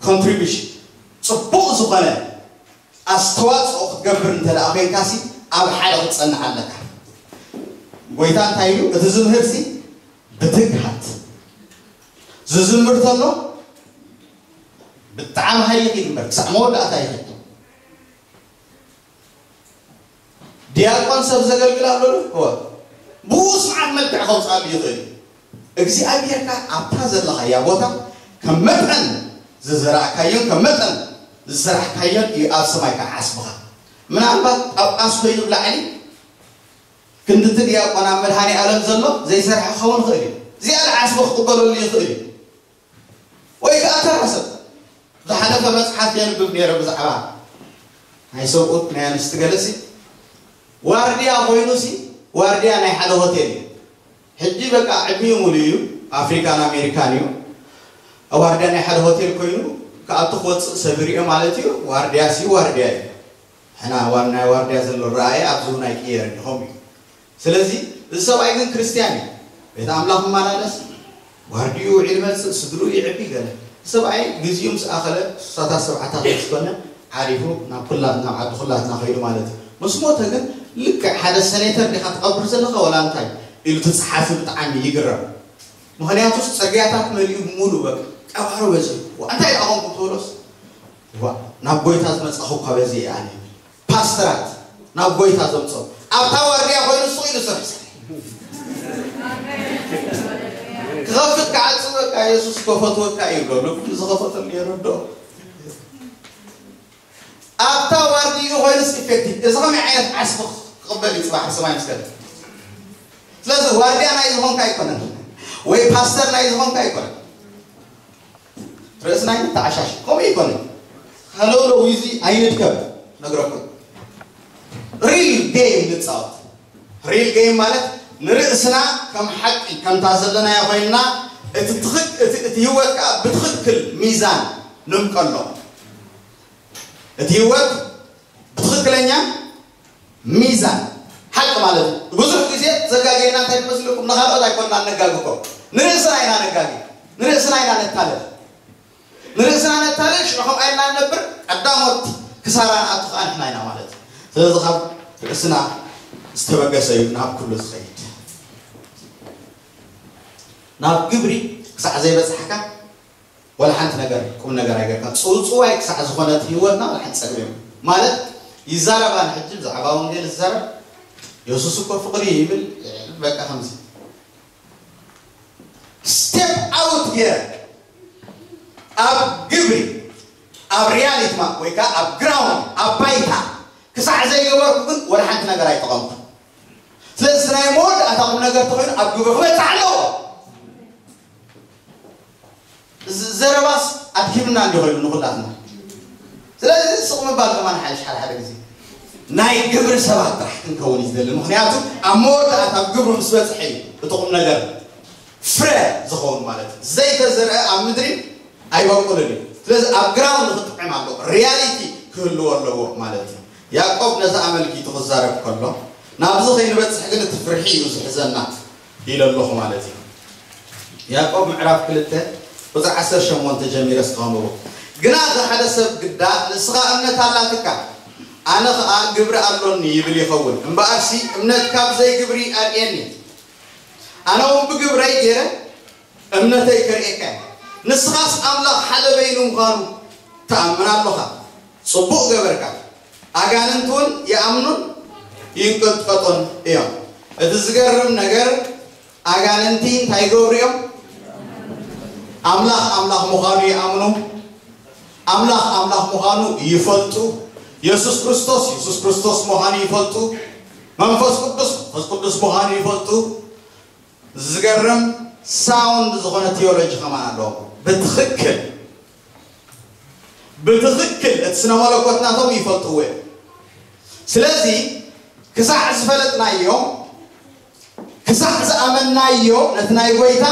ኮንትሪቢሽን፣ ጽቡቕ ዝኾነ ኣስተዋጽኦ ክትገብር እንተ ደኣ ኮይንካሲ ኣብ ሓደ ክትጸንዕ ኣለካ። ጎይታ እንታይ ኢሉ? እቲ ዝምህርሲ ብትግሃት ዝዝምር ተሎ ብጣዕሚ ሃይል ይኽድ እምበር ክሳዕ መወዳእታ ይኽድ። ዲያቆን ሰብ ዘገልግል ኣሎ ዶ? እወ። ብኡ ስርዓት መልክዕ ከውፅኣሉ ይኽእል እዩ። እግዚኣብሔር ከኣ ኣብታ ዘለኻያ ቦታ ከም መጠን ዝዘራእካዮን ከም መጠን ዝሰራሕካዮን እዩ ኣብ ሰማይ ከኣ ዓስብኻ። ምናልባት ጳጳስ ኮይኑ ብላዕሊ ክንድቲ ዲያቆን ኣብ መድሃኔ ዓለም ዘሎ ዘይሰርሐ ክኸውን ይኽእል እዩ። ዝያዳ ዓስቢ ክቕበለሉ ይኽእል እዩ። ወይ ከዓ ተራ ሰብ ዝሓለፈ መፅሓፍ የንብብ ነይረ ብዛዕባ ናይ ሰብኡት ናይ ኣንስቲ ገለሲ ዋርድያ ኮይኑሲ ዋርድያ ናይ ሓደ ሆቴል እዩ። ሕጂ በቃ ዕድሚኡ ሙሉ እዩ። ኣፍሪካን ኣሜሪካን እዩ። ዋርድያ ናይ ሓደ ሆቴል ኮይኑ ክኣቱ ክወፅእ ሰብ ይሪኦ ማለት እዩ። ዋርድያ ሲ ዋርድያ እዩ። ሕና ዋን ናይ ዋርድያ ዘሎ ረኣየ ኣብዚ እውን ኣይቅየርን ኢኹም እዩ። ስለዚ እዚ ሰብኣይ ግን ክርስትያን እዩ። ቤት ኣምላኽ ይመላለስ፣ ዋርድዩ ውዒል መጽእ፣ ስድርኡ ይዕቢ ገለ። ሰብኣይ ግዜኡ ምስ ኣኸለ ስሳታት ሰብዓታት ምስ ኮነ ዓሪፉ ናብ ኩላ ናብ ዓዲ ኩላትና ከይዱ ማለት እዩ። ምስ ሞተ ግን ልክዕ ሓደ ሰኔተር ዲኻ ትቐብር ዘለኻ ወላ እንታይ ኢሉ እቲ ጸሓፊ ብጣዕሚ ይግረም። ምኽንያቱስ ጽርግያታት መሊኡ ሙሉ በቃ ቀባሮ በዚሑ። ዋ እንታይ ደኣ ኾንኩም ትብሎስ ዋ ናብ ጎይታ ዝመጻኹ እኳ በዚ እየ ኣነ። ፓስተራት ናብ ጎይታ ዘምጾም ኣብታ ዋርድያ ኮይኑ ስቕ ኢሉ ስራሕ ስራሕ ክኸፍት ክዓጽ በቃ የሱስ ከፈትወካ እዩ ብሎ ዝኸፈተሉ የረድኦ። ኣብታ ዋርድይኡ ኮይኑስ ኢፌክቲቭ እዚ ከመይ ዓይነት ዓስቢ ክቕበል እዩ ጽባሕ ሰማይ ምስ ከደ። ስለዚ ዋርድያ ናይ ዝኾንካ ኣይኮነን ወይ ፓስተር ናይ ዝኾንካ ኣይኮነን። ርእስና ይተዓሻሽ ከምኡ ኣይኮነን። ሃለውለው እዚ ኣይንድከም ነግረኩም። ሪል ጌም ንጻወት። ሪል ጌም ማለት ንርእስና ከም ሓቂ ከምታ ዘለናያ ኮይንና እቲ ትኽክ- እቲ እቲ ህይወት ከኣ ብትኽክል ሚዛን ንምቀሎ። እቲ ህይወት ብትኽክለኛ ሚዛን ሓቂ ማለት እዩ። ብዙሕ ግዜ ዘጋገየና እንታይ ትመስልኩም? ንኻልኦት ኣይኮንና ነጋግኮ ንርእስና ኢና ነጋጊ ንርእስና ኢና ነታለል ንርእስና ነታለል ሽዑ ከምኣ ኢልና ንነብር ቀዳሞት ክሳራ ንኣቱ ከዓ ንሕና ኢና ማለት እዩ። ስለዚ ካብ ርእስና ዝተበገሰ እዩ ናብ ኩሉ ዝኸይድ። ናብ ግብሪ ክሳዕ ዘይበፅሕካ ወላ ሓንቲ ነገር ቁም ነገር ኣይገርካ ጽውጽዋይ ክሳዕ ዝኾነት ህይወትና ወላ ሓንቲ ጸግብ እዮም ማለት ይዛረባን ሕጂ ብዛዕባ ወንጌል ዝዛረብ የሱስ እኮ ፍቕሪ ይብል በቃ ከምዚ ስቴፕ ኣውት ገይረ ኣብ ግብሪ ኣብ ሪያሊቲ ማ ወይ ከዓ ኣብ ግራውንድ ኣብ ባይታ ክሳዕ ዘይገበርኩ ግን ወላ ሓንቲ ነገር ኣይጠቐምኩ። ስለዚ ናይ መወዳእታ ቁም ነገር ተኾይኑ ኣብ ግብሪ ክበፅሕ ኣለዎ። እዚ ዘረባስ ኣድኪምና እንዲ ኮይኑ ንኹላትና። ስለዚ ስቕ ምባል ከማን ሓይሽ ሓደ ሓደ ግዜ ናይ ግብሪ ሰባት ጥራሕ ክንከውን እዩ ዝደሊ። ምክንያቱ ኣብ መወዳእታ ኣብ ግብሪ ምስ በፅሐ እዩ እቲ ቁም ነገር ፍረ ዝኸውን ማለት እዩ። ዘይተዘርአ ኣብ ምድሪ ኣይበቁልን እዩ። ስለዚ ኣብ ግራውንድ ክጥዕም ኣለዎ፣ ሪያሊቲ ክህልዎ ኣለዎ ማለት እዩ። ያዕቆብ ነዚ ኣመልኪቱ ክዛረብ ከሎ ናብዚ ከይንበፅሕ ግን እቲ ፍርሒ እዩ ዝሕዘና ኢለ ኣለኹ ማለት እዩ። ያዕቆብ ምዕራፍ ክልተ ቁፅሪ ዓሰርተ ሸሞንተ ጀሚረ እስከ ከንብቦ። ግና እዚ ሓደ ሰብ ግዳ ንስኻ እምነት ኣላትካ ኣነ ኸዓ ግብሪ ኣሎኒ ይብል ይኸውን። እምበኣርሲ እምነት ካብ ዘይግብሪ ኣርእየኒ። ኣነ እውን ብግብረይ ገይረ እምነተይ ከርእየካ እየ። ንስኻስ ኣምላኽ ሓደ በይኑ ምዃኑ ትኣምን ኣሎኻ። ጽቡቕ ገበርካ። ኣጋንንቲ እውን ይኣምኑን ይንቀጥቀጡን እዮም። እቲ ዝገርም ነገር ኣጋንንቲ እንታይ ይገብሩ እዮም? ኣምላኽ ኣምላኽ ምዃኑ ይኣምኑ። ኣምላኽ ኣምላኽ ምዃኑ ይፈልጡ። የሱስ ክርስቶስ የሱስ ክርስቶስ ምዃኑ ይፈልጡ። መንፈስ ቅዱስ መንፈስ ቅዱስ ምዃኑ ይፈልጡ። ዝገርም ሳውንድ ዝኾነ ቲዮሎጂ ከማን ኣለዎም። ብትኽክል ብትኽክል እቲ ስነ መለኮት ናቶም ይፈልጥዎ እዮም። ስለዚ ክሳዕ ዝፈለጥናዮ ክሳዕ ዝኣመናዮ ነቲ ናይ ጎይታ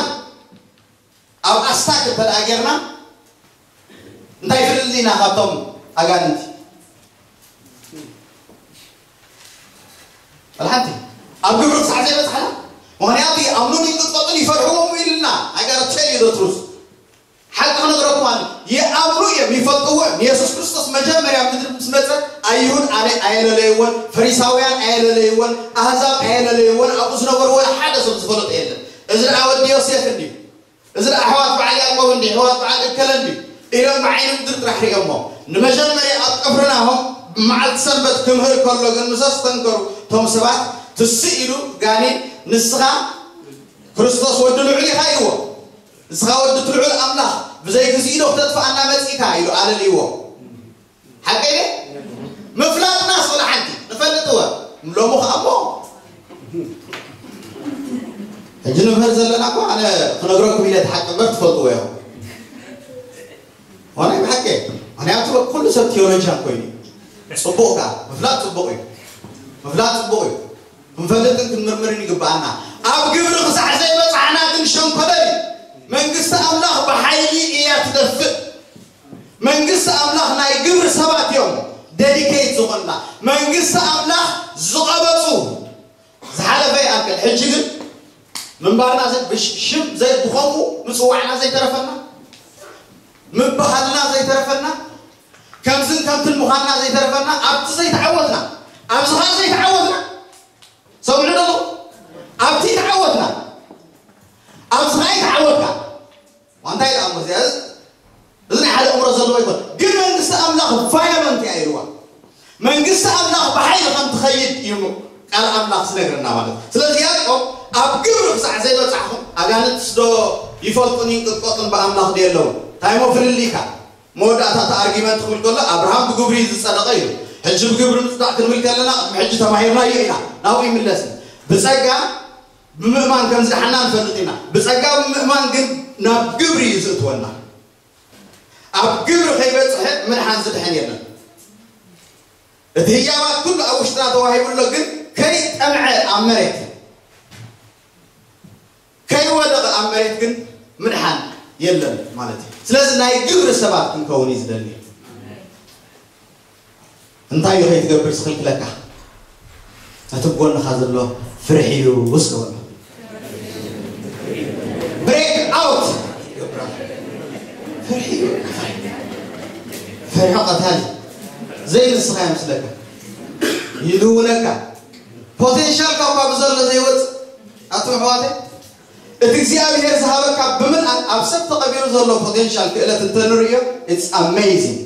ኣብ ኣስታክ እንተደኣ ጌርና እንታይ ፍልል ኢና ካብቶም ኣጋንንቲ? ወላ ሓንቲ ኣብ ግብሪ ክሳዕ ዘይበፅሓና ምክንያቱ ይኣምኑን ይንቅጥቀጡን ይፈርሕዎም ኢልና ኣጋር ቴል ዩ ትሩስ ሓቂ ክነግረኩም ኣለ ይኣምኑ እዮም ይፈልጥዎ እዮም ንየሱስ ክርስቶስ መጀመርያ ምድሪ ምስ መፀ ኣይሁድ ኣነ ኣየለለይዎን ፈሪሳውያን ኣየለለይዎን ኣህዛብ ኣየለለይዎን ኣብኡ ዝነበሩ ወላ ሓደ ሰብ ዝፈለጦ የለን እዚ ደኣ ወዲ ዮሴፍ እንድዩ እዚ ደኣ ኣሕዋት በዓል ያዕቆብ እንድዩ ኣሕዋት በዓል እከለ እንድዩ ኢሎም ብዓይኒ ምድሪ ጥራሕ ሪኦሞ ንመጀመርያ ኣብ ቅፍርናሆም ብመዓልቲ ሰንበት ክምህር ከሎ ግን ምስ ኣስተንከሩ እቶም ሰባት ትስእ ኢሉ ጋኔን ንስኻ ክርስቶስ ወዲ ልዑል ኢኻ ኢልዎ ንስኻ ወዲ እቲ ልዑል ኣምላኽ ብዘይ ግዜኡ ዶ ክተጥፍኣና መጺእካ ኢሉ ኣለልይዎ ሓቀይ ምፍላጥናስ ወላ ሓንቲ ንፈልጥወ ሎሚ ከኣ እሞ ሕጂ ንምህር ዘለና እኮ ኣነ ክነግረኩም ኢለ እቲ ሓቂ እምበር ትፈልጥዎ ኢኹም ዋናይ ብሓቂ ምክንያቱ ኩሉ ሰብ ቴዎሎጂያን ኮይኑ እዩ ጽቡቕ ከኣ ምፍላጥ ጽቡቕ እዩ ምፍላጥ ጽቡቕ እዩ ክንፈልጥን ክንምርምርን ይግብኣና ኣብ ግብሪ ክሳዕ ዘይበጻሕና ግን ሸንኮለል እዩ መንግስቲ ኣምላኽ ብሓይሊ እያ ትደፍእ መንግስቲ ኣምላኽ ናይ ግብሪ ሰባት እዮም ደዲኬት ዝኾንና መንግስቲ ኣምላኽ ዝቐበፁ ዝሓለፈ ይኣክል ሕጂ ግን ምንባርና ሽም ብኸምኡ ምፅዋዕና ዘይተረፈና ምበሃልና ዘይተረፈና ከምዝን ከምትን ምዃንና ዘይተረፈና ኣብቲ ዘይተዓወትና ኣብዚ ኸዓ ዘይተዓወትና ሰምዑ ዶ ኣብቲ ተዓወትና ኣብዚ ኸዓ ይተዓወትካ እንታይ ደኣ እሞ እዚኣ እዚ ናይ ሓደ እምሮ ዘለዎ ይኮን ግን መንግስቲ ኣምላኽ ቫዮለንት እያ ኢልዋ መንግስቲ ኣምላኽ ብሓይሊ ከም ትኸይድ እዩ ቃል ኣምላኽ ዝነግረና ማለት ስለዚ ያዕቆብ ኣብ ግብሪ ክሳዕ ዘይበፃሕኹም ኣጋንንትስ ዶ ይፈልጡን ይንቅጥቀጡን ብኣምላኽ ድየ ኣለዉ እንታይ ሞ ፍልልይካ መወዳእታ እቲ ኣርጊመንት ክብል ከሎ ኣብርሃም ብግብሪ እዩ ዝፀደቐ ኢሉ ሕጂ ብግብሪ ምፅዳቕ ክንብል ከለና ቅድሚ ሕጂ ተማሂርናዮ ኢና ናብኡ ይምለስ ብፀጋ ብምእማን ከም ዝደሓና ንፈልጥ ኢና ብፀጋ ብምእማን ግን ናብ ግብሪ እዩ ዝእትወና ኣብ ግብሪ ከይበፅሐ ምድሓን ዝድሕን የለን እቲ ህያባት ኩሉ ኣብ ውሽጥና ተዋሂቡ ኣሎ ግን ከይጠምዐ ኣብ መሬት ከይወደቐ ኣብ መሬት ግን ምድሓን የለን ማለት እዩ ስለዚ ናይ ግብሪ ሰባት ክንከውን እዩ ዝደሊ እንታይ እዩ ከይትገብር ዝኽልክለካ እቲ ጎንኻ ዘሎ ፍርሒ እዩ ውስከወሎ break out ፍርሒ ቀታሊ ዘይንስኻ ይመስለካ ይልውነካ ፖቴንሻል ካብ ካብ ዘሎ ዘይወፅ ኣቱም ኣሕዋተይ እቲ እግዚኣብሔር ዝሃበካ ብምልኣት ኣብ ሰብ ተቐቢሩ ዘሎ ፖቴንሻል ክእለት እንተንርእዮ it's amazing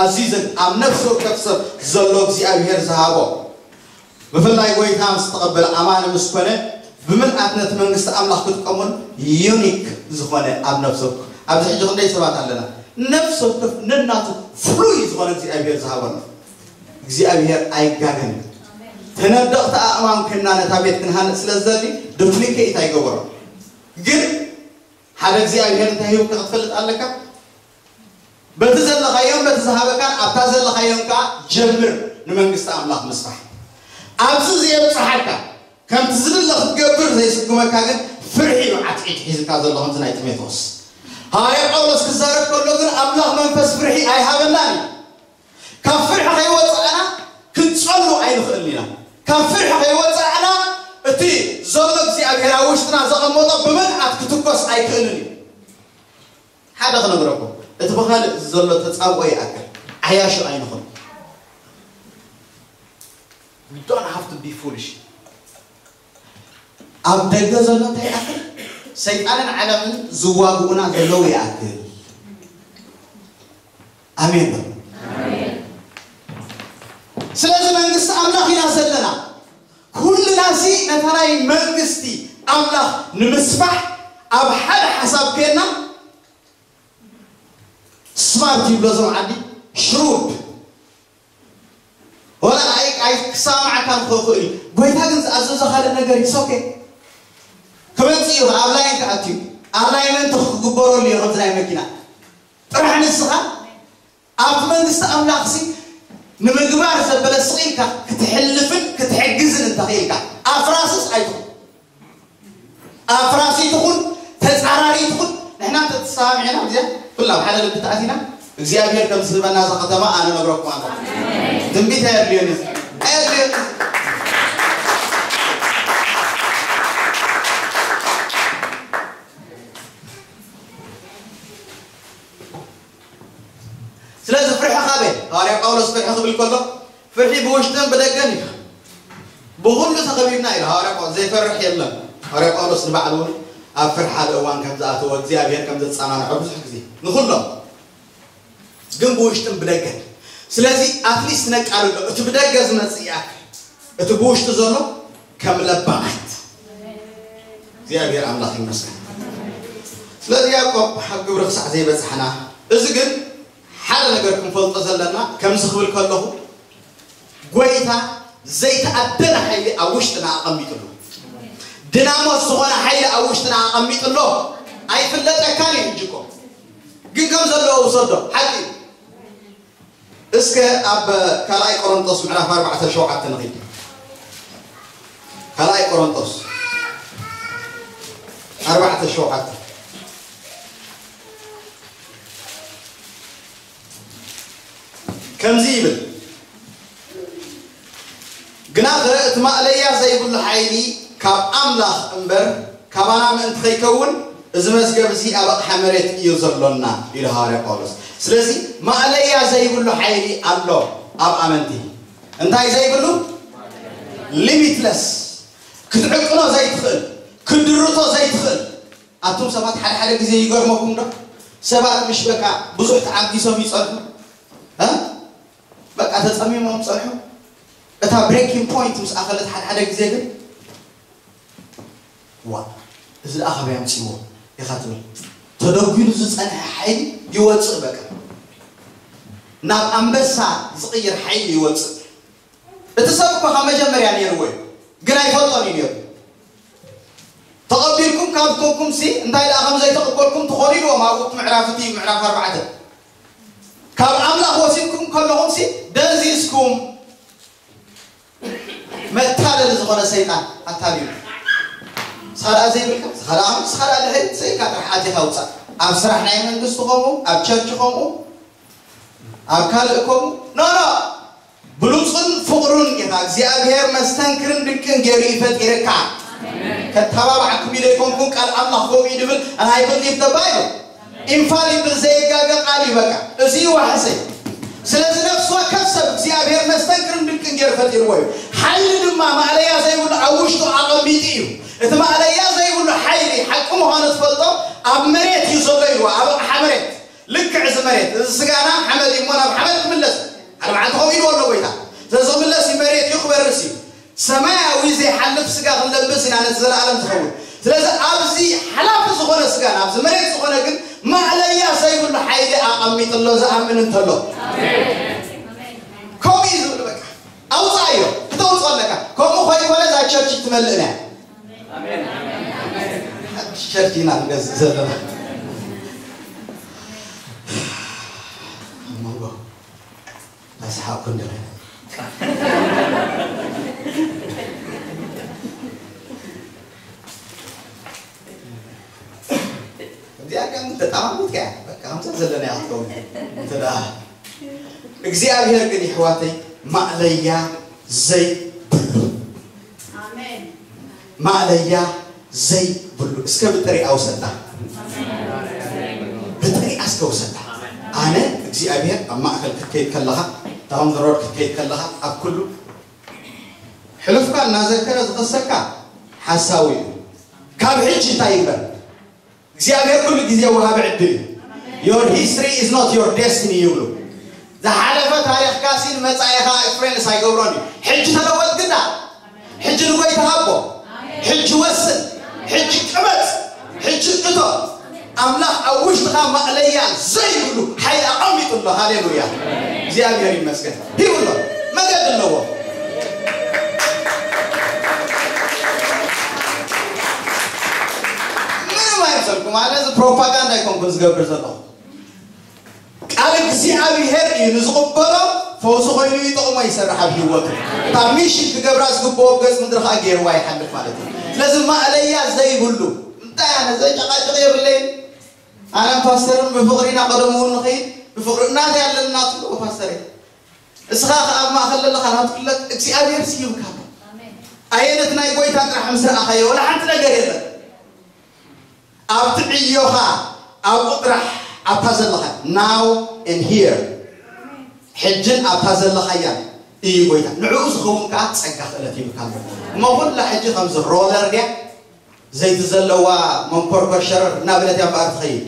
ኣዝዩ ዘግ ኣብ ነፍሲ ወከፍ ሰብ ዘሎ እግዚኣብሔር ዝሃቦ ብፍላይ ጎይታ ምስ ተቐበለ ኣማኒ ምስ ኮነ ብምልኣት ነቲ መንግስቲ ኣምላኽ ክጥቀሙን ዩኒክ ዝኾነ ኣብ ነፍሲ ወከፍ ኣብዚ ሕጂ ክንደይ ሰባት ኣለና ነፍሲ ወከፍ ነናቱ ፍሉይ ዝኾነ እግዚኣብሔር ዝሃበና። እግዚኣብሔር ኣይጋገን። ተነደቕቲ ኣእማን ኮይንና ነታ ቤት ክንሃንጽ ስለ ዝደሊ ዱፕሊኬት ኣይገበሮ። ግን ሓደ እግዚኣብሔር እንታይ ሂቡካ ክትፈልጥ ኣለካ። በቲ ዘለኻዮን በቲ ዝሃበካን ኣብታ ዘለኻዮን ከዓ ጀምር ንመንግስቲ ኣምላኽ ምስፋሕ። ኣብዚ ዘየብፅሓካ ከምቲ ዝድለ ክትገብር ዘይስጉመካ ግን ፍርሒ እዩ ዓትዒት ሒዝካ ዘሎ ከምዚ ናይ ጢሞቴዎስ። ሃዋርያ ጳውሎስ ክዛረብ ከሎ ግን ኣምላኽ መንፈስ ፍርሒ ኣይሃበናን እዩ። ካብ ፍርሒ ከይወፃእና ክንፀሉ ኣይንኽእልን ኢና። ካብ ፍርሒ ከይወፃእና እቲ ዘሎ እግዚኣብሔር ኣብ ውሽጥና ዘቐመጦ ብምልኣት ክትኮስ ኣይክእልን እዩ። ሓደ ክነግረኩም፣ እቲ ብኻልእ ዘሎ ተፃብኦ ይኣክል ዓያሹ ኣይንኹን። We don't have to be foolish. ኣብ ደገ ዘሎ እንታይ ይኣክል? ሰይጣንን ዓለምን ዝዋግኡና ዘለዉ ይኣክል። ኣሜን በሉ። ስለዚ መንግስቲ ኣምላኽ ኢና ዘለና። ኩልና ሲ ነታ ናይ መንግስቲ ኣምላኽ ንምስፋሕ ኣብ ሓደ ሓሳብ ኮይና ስማርት ይብሎ ዞም ዓዲ ሽሩድ ወላ ኣይ ኣይ ክሰማማዓካ ክኽእል እዩ። ጎይታ ግን ዝኣዘዞ ካልእ ነገር ይሶኬ ክመፅእ እዩ። ኣብ ላይን ክኣትዩ ኣላይመንት ክግበረሉ እዩ። ከምዚ ናይ መኪና ጥራሕ ንስኻ ኣብቲ መንግስቲ ኣምላኽሲ ንምግባር ዘበለ ስቕ ኢልካ ክትሕልፍን ክትሕግዝን እንተኽኢልካ ኣፍራስስ ኣይትኹን። ኣፍራሲ ትኹን ተጻራሪ ትኹን ንሕና ተተሰማሚዕና እዚኣ ኩላ ኣብ ሓደ ልቢ ተኣቲና እግዚኣብሔር ከም ዝህበና እዛ ከተማ ኣነ ነግረኩም ኣለኹ። ትንቢት ኣየድልዮን እዩ። ኣየድልዮን እዩ። ስለዚ ፍርሒ ካበይ? ሃዋርያ ጳውሎስ ፍርሒ ክብል ከሎ ፍርሒ ብውሽጥን ብደገን እዩ። ብኹሉ ተኸቢብና ኢሉ ሃዋርያ ጳውሎስ ዘይፈርሕ የለን። ሃዋርያ ጳውሎስ ንባዕሉ እውን ኣብ ፍርሒ ሓደ እዋን ከም ዝኣተወ እግዚኣብሔር ከም ዘጸናንዖ ብዙሕ ግዜ ንኹሎም ግን ብውሽጥን ብደገን። ስለዚ ኣትሊስት ነቃልሎ እቲ ብደገ ዝመጽእ ይኣክል እቲ ብውሽጢ ዘሎ ከም ለባማት እግዚኣብሔር ኣምላኽ ይመስገን። ስለዚ ያዕቆብ ኣብ ግብሪ ክሳዕ ዘይበጽሕና እዚ ግን ሓደ ነገር ክንፈልጦ ዘለና ከምዚ ክብል ከለኹ ጎይታ ዘይተኣደነ ሓይሊ ኣብ ውሽጥና ኣቐሚጥሉ ድናሞት ዝኾነ ሓይሊ ኣብ ውሽጥና ኣቐሚጥሎ ኣይፍለጠካን እዩ። ሕጂ እኮ ግን ከም ዘለዎ ውሰዶ ሓቂ እዩ። እስከ ኣብ ካልኣይ ቆሮንጦስ ምዕራፍ ኣርባዕተ ሸውዓተ ንኺድ። ካልኣይ ቆሮንጦስ ኣርባዕተ ሸውዓተ ከምዚ ይብል፣ ግናኸ እቲ ማእለያ ዘይብሉ ሓይሊ ካብ ኣምላኽ እምበር ካባና ምእንቲ ከይከውን እዚ መዝገብ እዚ ኣብ ኣቕሓ መሬት እዩ ዘሎና ኢሉ ሃዋርያ ጳውሎስ። ስለዚ ማእለያ ዘይብሉ ሓይሊ ኣሎ ኣብ ኣመንቲ። እንታይ ዘይብሉ? ሊሚትለስ ክትዕቅኖ ዘይትኽእል ክትድርቶ ዘይትኽእል። ኣቱም ሰባት ሓደ ሓደ ግዜ ይገርመኩም ዶ ሰባት ምሽ በቃ ብዙሕ ተዓጊሶም ይጸንሑ እ በቃ ተጸሚሞም ጸንሑ። እታ ብሬኪንግ ፖይንት ምስ ኣኸለት ሓደ ሓደ ግዜ ግን ዋ እዚ ደኣ ካበይ ኣምጺዎ ኢኻ ትብል። ተደጒሉ ዝጸንሐ ሓይሊ ይወጽእ በቃ ናብ ኣንበሳ ዝቕይር ሓይሊ ይወጽእ። እቲ ሰብ እኮ ካብ መጀመርያ ነይርዎ እዩ ግን ኣይፈልጦን እዩ ነይሩ። ተቐቢልኩም ካብ ኮንኩም ሲ እንታይ ደኣ ከም ዘይተቐበልኩም ትኾኑ ኢልዎም ኣብኡ እቲ ምዕራፍ እቲ ምዕራፍ ኣርባዕተ ካብ ኣምላኽ ወሲድኩም ከለኹም ሲ ደንዚዝኩም። መታለሊ ዝኾነ ሰይጣን ኣታሊሉ ስኻ ደኣ ዘይብልካ ስኻ ደኣ ስኻ ደኣ ድሕሪት ዘይካ ጥራሕ ኣቲኻ ውፃእ። ኣብ ስራሕ ናይ መንግስቲ ከምኡ ኣብ ቸርች ከምኡ ኣብ ካልእ ከምኡ ኖ ኖ ብሉፅን ፍቕሩን ኢኻ እግዚኣብሔር መስተንክርን ድንቅን ገይሩ እዩ ፈጢርካ። ከተባብዓኩም ኢለ ኣይኮንኩን ቃል ኣምላኽ ከምኡ እዩ ድብል ናይ ብሊቭ ተባሂሉ ኢንፋሊብል ዘየጋገ ቃል እዩ በቃ እዚ እዩ ዋሕሰይ። ስለዚ ነፍሲ ወከፍ ሰብ እግዚኣብሔር መስተንክርን ድንቅን ገይሩ ፈጢርዎ እዩ። ሓይሊ ድማ ማእለያ ዘይብሉ ኣብ ውሽጡ ኣቐሚጡ እዩ። እቲ ማእለያ ዘይብሉ ሓይሊ ሓቂ ምዃኑ ትፈልጦ ኣብ መሬት እዩ ዘሎ ኢልዎ ኣብ ኣቕሓ መሬት። ልክዕ እዚ መሬት እዚ ስጋና ሓመድ እሞ ናብ ሓመድ ክምለስ ሓደ መዓልቲ ከምኡ ኢልዎ ኣሎ ጎይታ። ስለዚ ክምለስ እዩ መሬት እዩ ክበርስ እዩ። ሰማያዊ ዘይሓልፍ ስጋ ክንለብስ ኢና ነቲ ዘለኣለም ዝኸውን። ስለዚ ኣብዚ ሓላፊ ዝኾነ ስጋና ኣብዚ መሬት ዝኾነ ግን ማእለያ ዘይብሉ ሓይሊ ኣቐሚጡ ኣሎ ዝኣምን እንተሎ። ከምኡ እዩ ዝብሉ። በቃ ኣውፃዮ፣ ክተውፅኦ ኣለካ። ከምኡ ከይኮነ እዛ ቸርች ትመልእን እያ። ሓድሽ ቸርች ኢና ንገዝእ ዘለና። ኣብ መንጎ ኣስሓብኩ እንደገና እዚኣ ግን ተጣማሚት እያ። በቃ ከምዛ ዘለና እያ ክትከውን። እንተ ደኣ እግዚኣብሔር ግን ይሕዋተይ ማእለያ ዘይብሉ፣ ኣሜን። ማእለያ ዘይብሉ። እስከ ብጥሪኣ ውሰዳ፣ ብጥሪኣ እስከ ውሰዳ። ኣነ እግዚኣብሔር ኣብ ማእከል ክትከይድ ከለኻ፣ ዳውን ሮድ ክትከይድ ከለኻ፣ ኣብ ኩሉ ሕሉፍካ እናዘከረ ዝኸሰካ ሓሳዊ እዩ። ካብ ሕጂ እንታይ ይግበር? እግዚኣብሔር ኩሉ ግዜ ወሃቢ ዕድል እዩ። Your history is not your destiny ይብሉ። ዝሓለፈ ታሪኽካ ሲ ንመጻኢኻ ኢንፍሉዌንስ ኣይገብሮን እዩ። ሕጂ ተለወጥ ግዳ። ሕጂ ንጎይታ ሃቦ። ሕጂ ወስን። ሕጂ ቅበጽ። ሕጂ እቶ። ኣምላኽ ኣብ ውሽጥኻ ማእለያ ዘይብሉ ሓይሊ ኣቐሚጡ ኣሎ። ሃሌሉያ። እግዚኣብሔር ይመስገን። ሂቡ ኣሎ። መገዲ ኣለዎ። ምንም ኣይምሰልኩም። ኣነ እዚ ፕሮፓጋንዳ ኣይኮንኩን ዝገብር ዘለኹ። ቃል እግዚኣብሔር እዩ ንዝቕበሎ ፈውሲ ኮይኑ ይጠቕሞ ይሰርሕ ኣብ ህይወቱ። እታ ሚሽን ክገብራ ዝግብኦ ገጽ ምድሪ ኸኣ ገይርዋ ይሓልፍ ማለት እዩ። ስለዚ ማእለያ ዘይብሉ እንታይ ኣነ ዘጨቃጭቕ የብለይን። ኣነም ፓስተርን ብፍቕሪ ኢና ቀደሙ እውን ንኸይድ ብፍቕሪ እናዚ ኣለና ትብልዎ ፓስተር እስኻ ኸኣ ኣብ ማእኸል ዘለኻ ናብ ትፍለጥ እግዚኣብሔር ስዩምካ ኣሎ። ኣየነት ናይ ጎይታ ጥራሕ ምስ ረኣኻዮ ወላ ሓንቲ ነገር የለን። ኣብቲ ዕዮኻ ኣብኡ ጥራሕ ኣብታ ዘለኻ now and here ሕጅን ኣብታ ዘለኻያ እዩ ጎይታ። ንዕኡ ዝኸውን ከኣ ጸጋ ክእለት ይብካ ኣሎ። እሞ ኩላ ሕጂ ከምዚ ሮለር ድያ ዘይቲ ዘለዋ መንኮርኮር ሸረር እናበለት እያ እምበኣር ትኸይድ።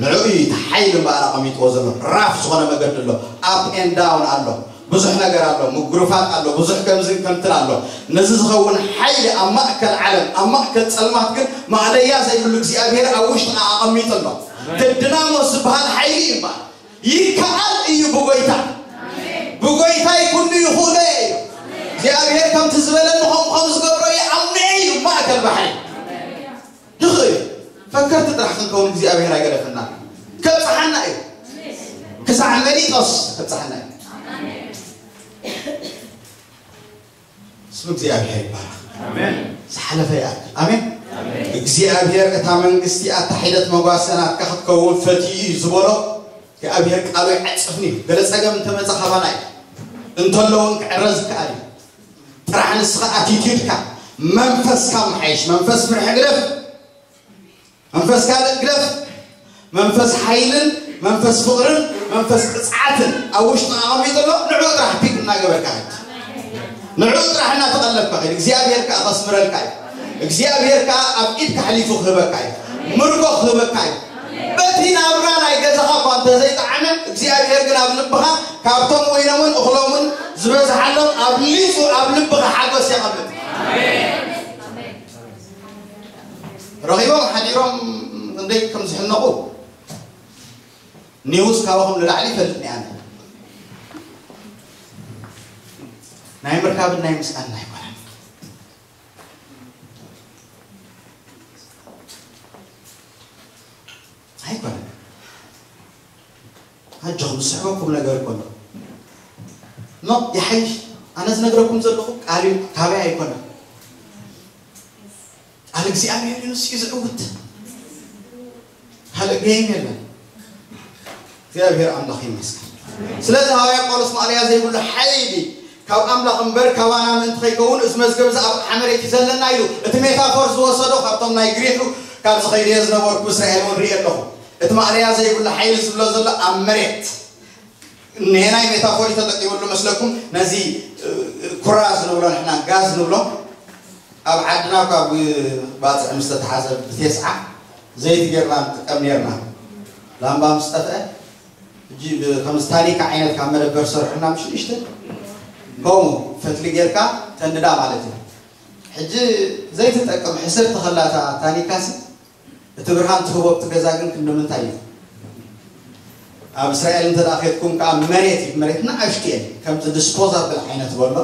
ንዕኡ እዩ እቲ ሓይሊ እምበኣር ኣቐሚጥዎ ዘሎ። ራፍ ዝኾነ መገዲ ኣሎ። ኣፕ ኤንድ ዳውን ኣሎ። ብዙሕ ነገር ኣሎ። ምጉርፋጥ ኣሎ። ብዙሕ ከምዝን ከምትን ኣሎ። ነዚ ዝኸውን ሓይሊ ኣብ ማእከል ዓለም ኣብ ማእከል ጸልማት ግን ማእለያ ዘይብሉ እግዚኣብሔር ኣብ ውሽጥና ኣቐሚጡ ኣሎ። እቲ ድናሞስ ዝበሃል ሓይሊ እዩ እምበኣር ይከኣል እዩ ብጎይታ። ብጎይታይ ኩሉ ይኽእሎ እየ እዩ። እግዚኣብሔር ከምቲ ዝበለኒ ከምኡ ከም ዝገብሮ ይኣምነ እዩ። ማእከል ባሕሪ ይኽእል እዩ። ፈከርቲ ጥራሕ ክንከውን እግዚኣብሔር ኣይገደፈና። ከብፅሓና እዩ። ክሳዕ መሊጦስ ከብፅሓና እዩ። ስም እግዚኣብሔር ይባረኽ። ኣሜን። ዝሓለፈ ይኣክል። ኣሜን። ኣሜን። እግዚኣብሔር እታ መንግስቲ ኣታ ሒደት መጓሰ ናትካ ክትከውን ፈትዩ እዩ ዝበሎ እግዚኣብሔር ቃሉ ኣይዓጽፍን እዩ። ገለ ጸገም እንተመጸ ካባና እዩ። እንተሎ እውን ክዕረዝ ይከኣል እዩ። ጥራሕ ንስኻ ኣቲቲዩድካ መንፈስካ ምሓይሽ፣ መንፈስ ፍርሒ ግደፍ። መንፈስ ካልእ ግደፍ። መንፈስ ሓይልን መንፈስ ፍቕርን መንፈስ ቅጽዓትን ኣብ ውሽጥና ኣቐሚጡ ኣሎ። ንዕኡ ጥራሕ ፒክ እናገበርካ ኸድ። ንዕኡ ጥራሕ እናተቐለብካ ኸድ። እግዚኣብሔር ከኣ ከስምረልካ እዩ። እግዚኣብሔር ከኣ ኣብ ኢድካ ኣሕሊፉ ክህበካ እዩ። ምርኮ ክህበካ እዩ። በቲ ናብራ ናይ ገዛኻ እኳ እንተዘይጠዓመ እግዚኣብሔር ግን ኣብ ልብኻ ካብቶም ወይኖምን እኽሎምን ዝበዝሓሎም ኣብሊጹ ኣብ ልብኻ ሓጎስ የቐምጥ። ረኺቦም ሓዲሮም ክንደይ ከም ዝሕነቑ ኒውስ ካባኹም ንላዕሊ ይፈልጥ እየ ኣነ። ናይ ምርካብን ናይ ምስኣን ኣይኮነን። ኣይኮነን። ኣጆኹም ዝስሕበኩም ነገር እኮ ኣሎ። ኖ ይሓይሽ። ኣነ ዝነግረኩም ዘለኹ ቃል እዩ፣ ካበይ ኣይኮነን። ቃል እግዚኣብሔር እዩ፣ ንሱ እዩ ዝዕውት። ካልእ ገይም የለን። እግዚኣብሔር ኣምላኽ ይመስገን። ስለዚ ሃዋርያ ጳውሎስ ማእለያ ዘይብሉ ሓይሊ ካብ ኣምላኽ እምበር ካባና ምእንቲ ከይከውን እዚ መዝገብ እዚ ኣብ ኣቕሓ መሬት እዩ ዘለና ኢሉ። እቲ ሜታፎር ዝወሰዶ ካብቶም ናይ ግሪክ እዩ። ካብ ዝኸይደዮ ዝነበርኩ እስራኤል እውን ርእየ ኣለኹ። እቲ ማእለያ ዘይብሉ ሓይሊ ዝብሎ ዘሎ ኣብ መሬት እኒሄ ናይ ሜታፎሪ ተጠቂሙሉ መስለኩም። ነዚ ኩራዝ ንብሎ ንሕና ጋዝ ንብሎ። ኣብ ዓድና ካብ ባፅዕ ምስ ተተሓዘ ብቴስዓ ዘይቲ ጌርና ንጥቀም ኔርና። ላምባ ምስ ጠፍአ ሕጂ ብ- ከም ስታሊካ ዓይነት ካብ መደበር ሰርሑና ምሽ ንሽተ ከምኡ ፈትሊ ጌርካ ተንድዳ ማለት እዩ። ሕጂ ዘይትጠቅም ሕስር ተኸላታ ታኒካሲ እቲ ብርሃን ትህቦ ኣብቲ ገዛ ግን ክንዲ ምንታይ እዩ? ኣብ እስራኤል እንተ ደኣ ኬድኩም ከኣ መሬት እዩ፣ መሬት ንኣሽቱ እየን፣ ከምዚ ዲስፖዛብል ዓይነት በሎ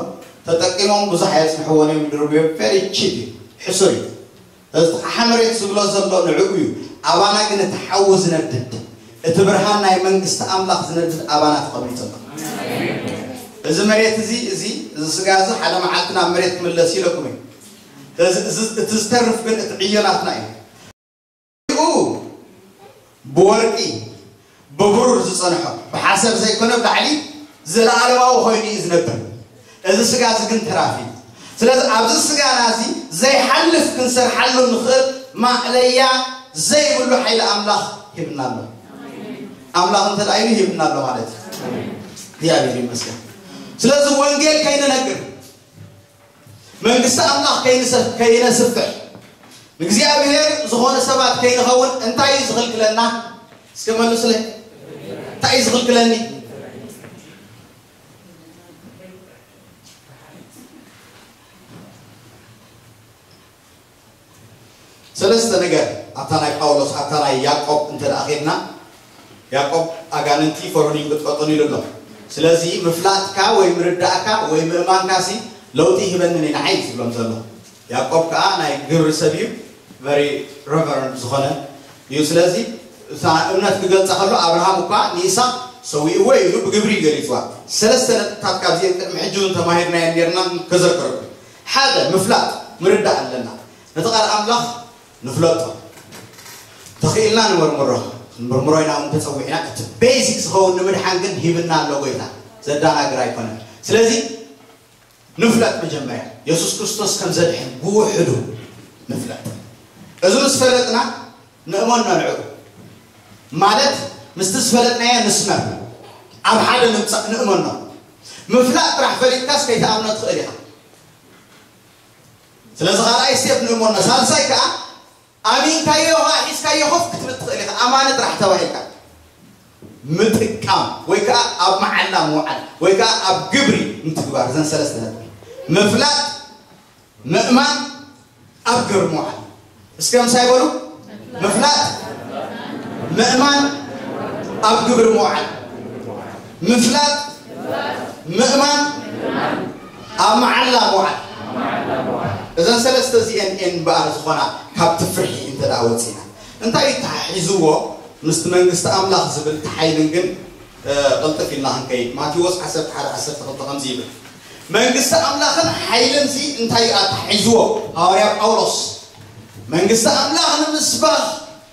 ተጠቂሞም ብዙሕ ኣየጽንሕዎን እዮም፣ ይድርብዮ፣ ቨሪ ቺፕ እዩ፣ ሕሱር እዩ። እዚ ኣቕሓ መሬት ዝብሎ ዘሎ ንዕኡ እዩ። ኣባና ግን እቲ ሓዊ ዝነድድ፣ እቲ ብርሃን ናይ መንግስቲ ኣምላኽ ዝነድድ ኣባና ተቐሚጡ ኣሎ። እዚ መሬት እዚ፣ እዚ፣ እዚ ስጋ እዚ ሓደ መዓልቲ ናብ መሬት ክምለስ ኢለኩም እዩ። እዚ፣ እዚ፣ እቲ ዝተርፍ ግን እቲ ዕዮ ናትና እዩ። ኡ ብወርቂ ብብሩር ዝጸንሖ ብሓሰር ዘይኮነ ብላዕሊ ዘለኣለማዊ ኮይኑ እዩ ዝነብር። እዚ ስጋ እዚ ግን ተራፊ እዩ። ስለዚ ኣብዚ ስጋና እዚ ዘይሓልፍ ክንሰርሓሉ ንኽእል ማእለያ ዘይብሉ ሓይሊ ኣምላኽ ሂብና ኣሎ። ኣምላኽ እንተ ደኣ ኢሉ ሂብና ኣሎ ማለት እዩ። እግዚኣብሔር ይመስገን። ስለዚ ወንጌል ከይንነግር መንግስቲ ኣምላኽ ከይንሰ- ከይነስፍሕ ንእግዚኣብሔር ዝኾነ ሰባት ከይንኸውን እንታይ እዩ ዝኽልክለና? እስከ መልሱለይ። እንታይ እዩ ዝኽልክለኒ? ሰለስተ ነገር ኣብታ ናይ ጳውሎስ ኣብታ ናይ ያዕቆብ እንተ ደኣ ኸድና ያዕቆብ ኣጋንንቲ ፈርሁን ይንቅጥቀጡን ኢሉ ኣሎ። ስለዚ ምፍላጥካ ወይ ምርዳእካ ወይ ምእማንካሲ ለውጢ ይህበንን እዩ ንዓይ ዝብሎም ዘሎ። ያዕቆብ ከዓ ናይ ግብሪ ሰብ እዩ፣ ቨሪ ረቨረንድ ዝኾነ እዩ። ስለዚ እታ እምነት ክገልጻ ከሎ ኣብርሃም እኳ ንይስሐቅ ሰዊእዎ ኢሉ ብግብሪ ገሊጽዋ። ሰለስተ ነጥብታት ካብዚአን ቅድሚ ሕጂ እውን ተማሂርናየን ነርና ከዘክረኩም። ሓደ ምፍላጥ ምርዳእ ኣለና። ነቲ ቃል ኣምላኽ ንፍለጦ። ተኽኢልና ንመርምሮ። ክንምርምሮ ኢና እውን ተጸዊዕና። እቲ ቤዚክ ዝኸውን ንምድሓን ግን ሂብና ኣሎ ጎይታ። ዘዳናግር ኣይኮነን። ስለዚ ንፍለጥ መጀመርያ። የሱስ ክርስቶስ ከም ዘድሕን ብውሕዱ ንፍለጥ። እዚ ምስ ፈለጥና ንእመኖ ንዕኡ። ማለት ምስቲ ዝፈለጥናዮ ንስመር። ኣብ ሓደ ንምጻእ ንእመኖ። ምፍላጥ ጥራሕ ፈሊጥካስ ከይትኣምኖ ትኽእል ኢኻ። ስለዚ ካልኣይ ስቴፕ ንእመኖ። ሳልሳይ ከኣ ኣሚንካዮ ኸዓ ሒዝካዮ ኮፍ ክትብል ትኽእል ኢኻ። ኣማኒ ጥራሕ ተባሂልካ ምጥቃም ወይ ከዓ ኣብ መዓላ ምውዓል ወይ ከዓ ኣብ ግብሪ ምትግባር። እዘን ሰለስተ ነጥቢ። ምፍላጥ፣ ምእማን፣ ኣብ ግብሪ ምውዓል። እስከ ምሳይ በሉ። ምፍላጥ፣ ምእማን፣ ኣብ ግብሪ ምውዓል። ምፍላጥ፣ ምእማን፣ ኣብ መዓላ ምውዓል። እዘን ሰለስተ እዚአን እየን እምበኣር ዝኾና ካብቲ ፍርሒ እንተ ደኣ ወፂና። እንታይ እዩ ተሓሒዝዎ ምስቲ መንግስቲ ኣምላኽ ዝብል ተሓይልን ግን ቅልጥፍ ኢልና ክንከይድ። ማቴዎስ ዓሰርተ ሓደ ዓሰርተ ክልተ ከምዚ ይብል፣ መንግስቲ ኣምላኽን ሓይልን እዚ እንታይ እዩ ኣተሓሒዝዎ? ሃዋርያ ጳውሎስ መንግስቲ ኣምላኽ ንምስባኽ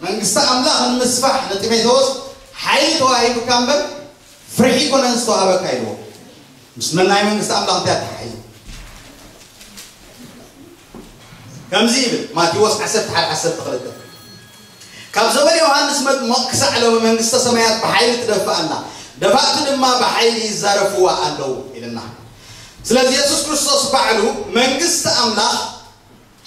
መንግስቲ ኣምላኽ ንምስፋሕ ንጢሞቴዎስ ሓይሊ ተዋሂቡካ እምበር ፍርሒ ኮነን ዝተዋህበካ ኢልዎ። ምስ መናይ መንግስቲ ኣምላኽ እንታይ ኣተሓሒዙ? ከምዚ ይብል ማቴዎስ ዓሰርተ ሓደ ዓሰርተ ክልተ፣ ካብ ዘመን ዮሃንስ መጥምቕ ክሳዕ ሎሚ መንግስተ ሰማያት ብሓይሊ ትደፍእ ኣላ፣ ደፋእቲ ድማ ብሓይሊ ይዛረፍዋ ኣለዉ ኢልና። ስለዚ የሱስ ክርስቶስ ባዕሉ መንግስቲ ኣምላኽ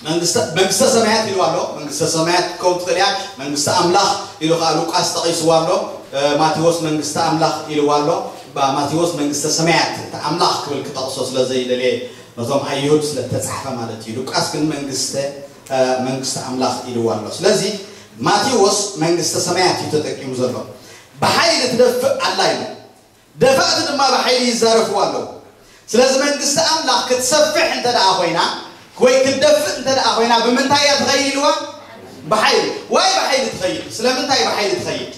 መንግስተ መንግስተ ሰማያት ኢልዋ ኣሎ። መንግስተ ሰማያት ክትከውን ትኽእል እያ። መንግስቲ ኣምላኽ ኢሉ ከዓ ሉቃስ ጠቒስዋ ኣሎ። ማቴዎስ መንግስቲ ኣምላኽ ኢልዋ ኣሎ። ማቴዎስ መንግስተ ሰማያት እቲ ኣምላኽ ክብል ክጠቕሶ ስለ ዘይደልየ ነቶም ኣይሁድ ስለ ተጻሕፈ ማለት እዩ። ሉቃስ ግን መንግስተ መንግስቲ ኣምላኽ ኢልዋ ኣሎ። ስለዚ ማቴዎስ መንግስተ ሰማያት እዩ ተጠቂሙ ዘሎ። ብሓይሊ ትደፍእ ኣላ ኢሉ። ደፋእቲ ድማ ብሓይሊ ይዛረፍዋ ኣለዉ። ስለዚ መንግስቲ ኣምላኽ ክትሰፍሕ እንተ ደኣ ኮይና ወይ ክትደፍእ እንተ ደኣ ኮይና ብምንታይ እያ ትኸይድ ኢልዋ? ብሓይሊ። ዋይ ብሓይሊ ትኸይድ? ስለምንታይ ብሓይሊ ትኸይድ?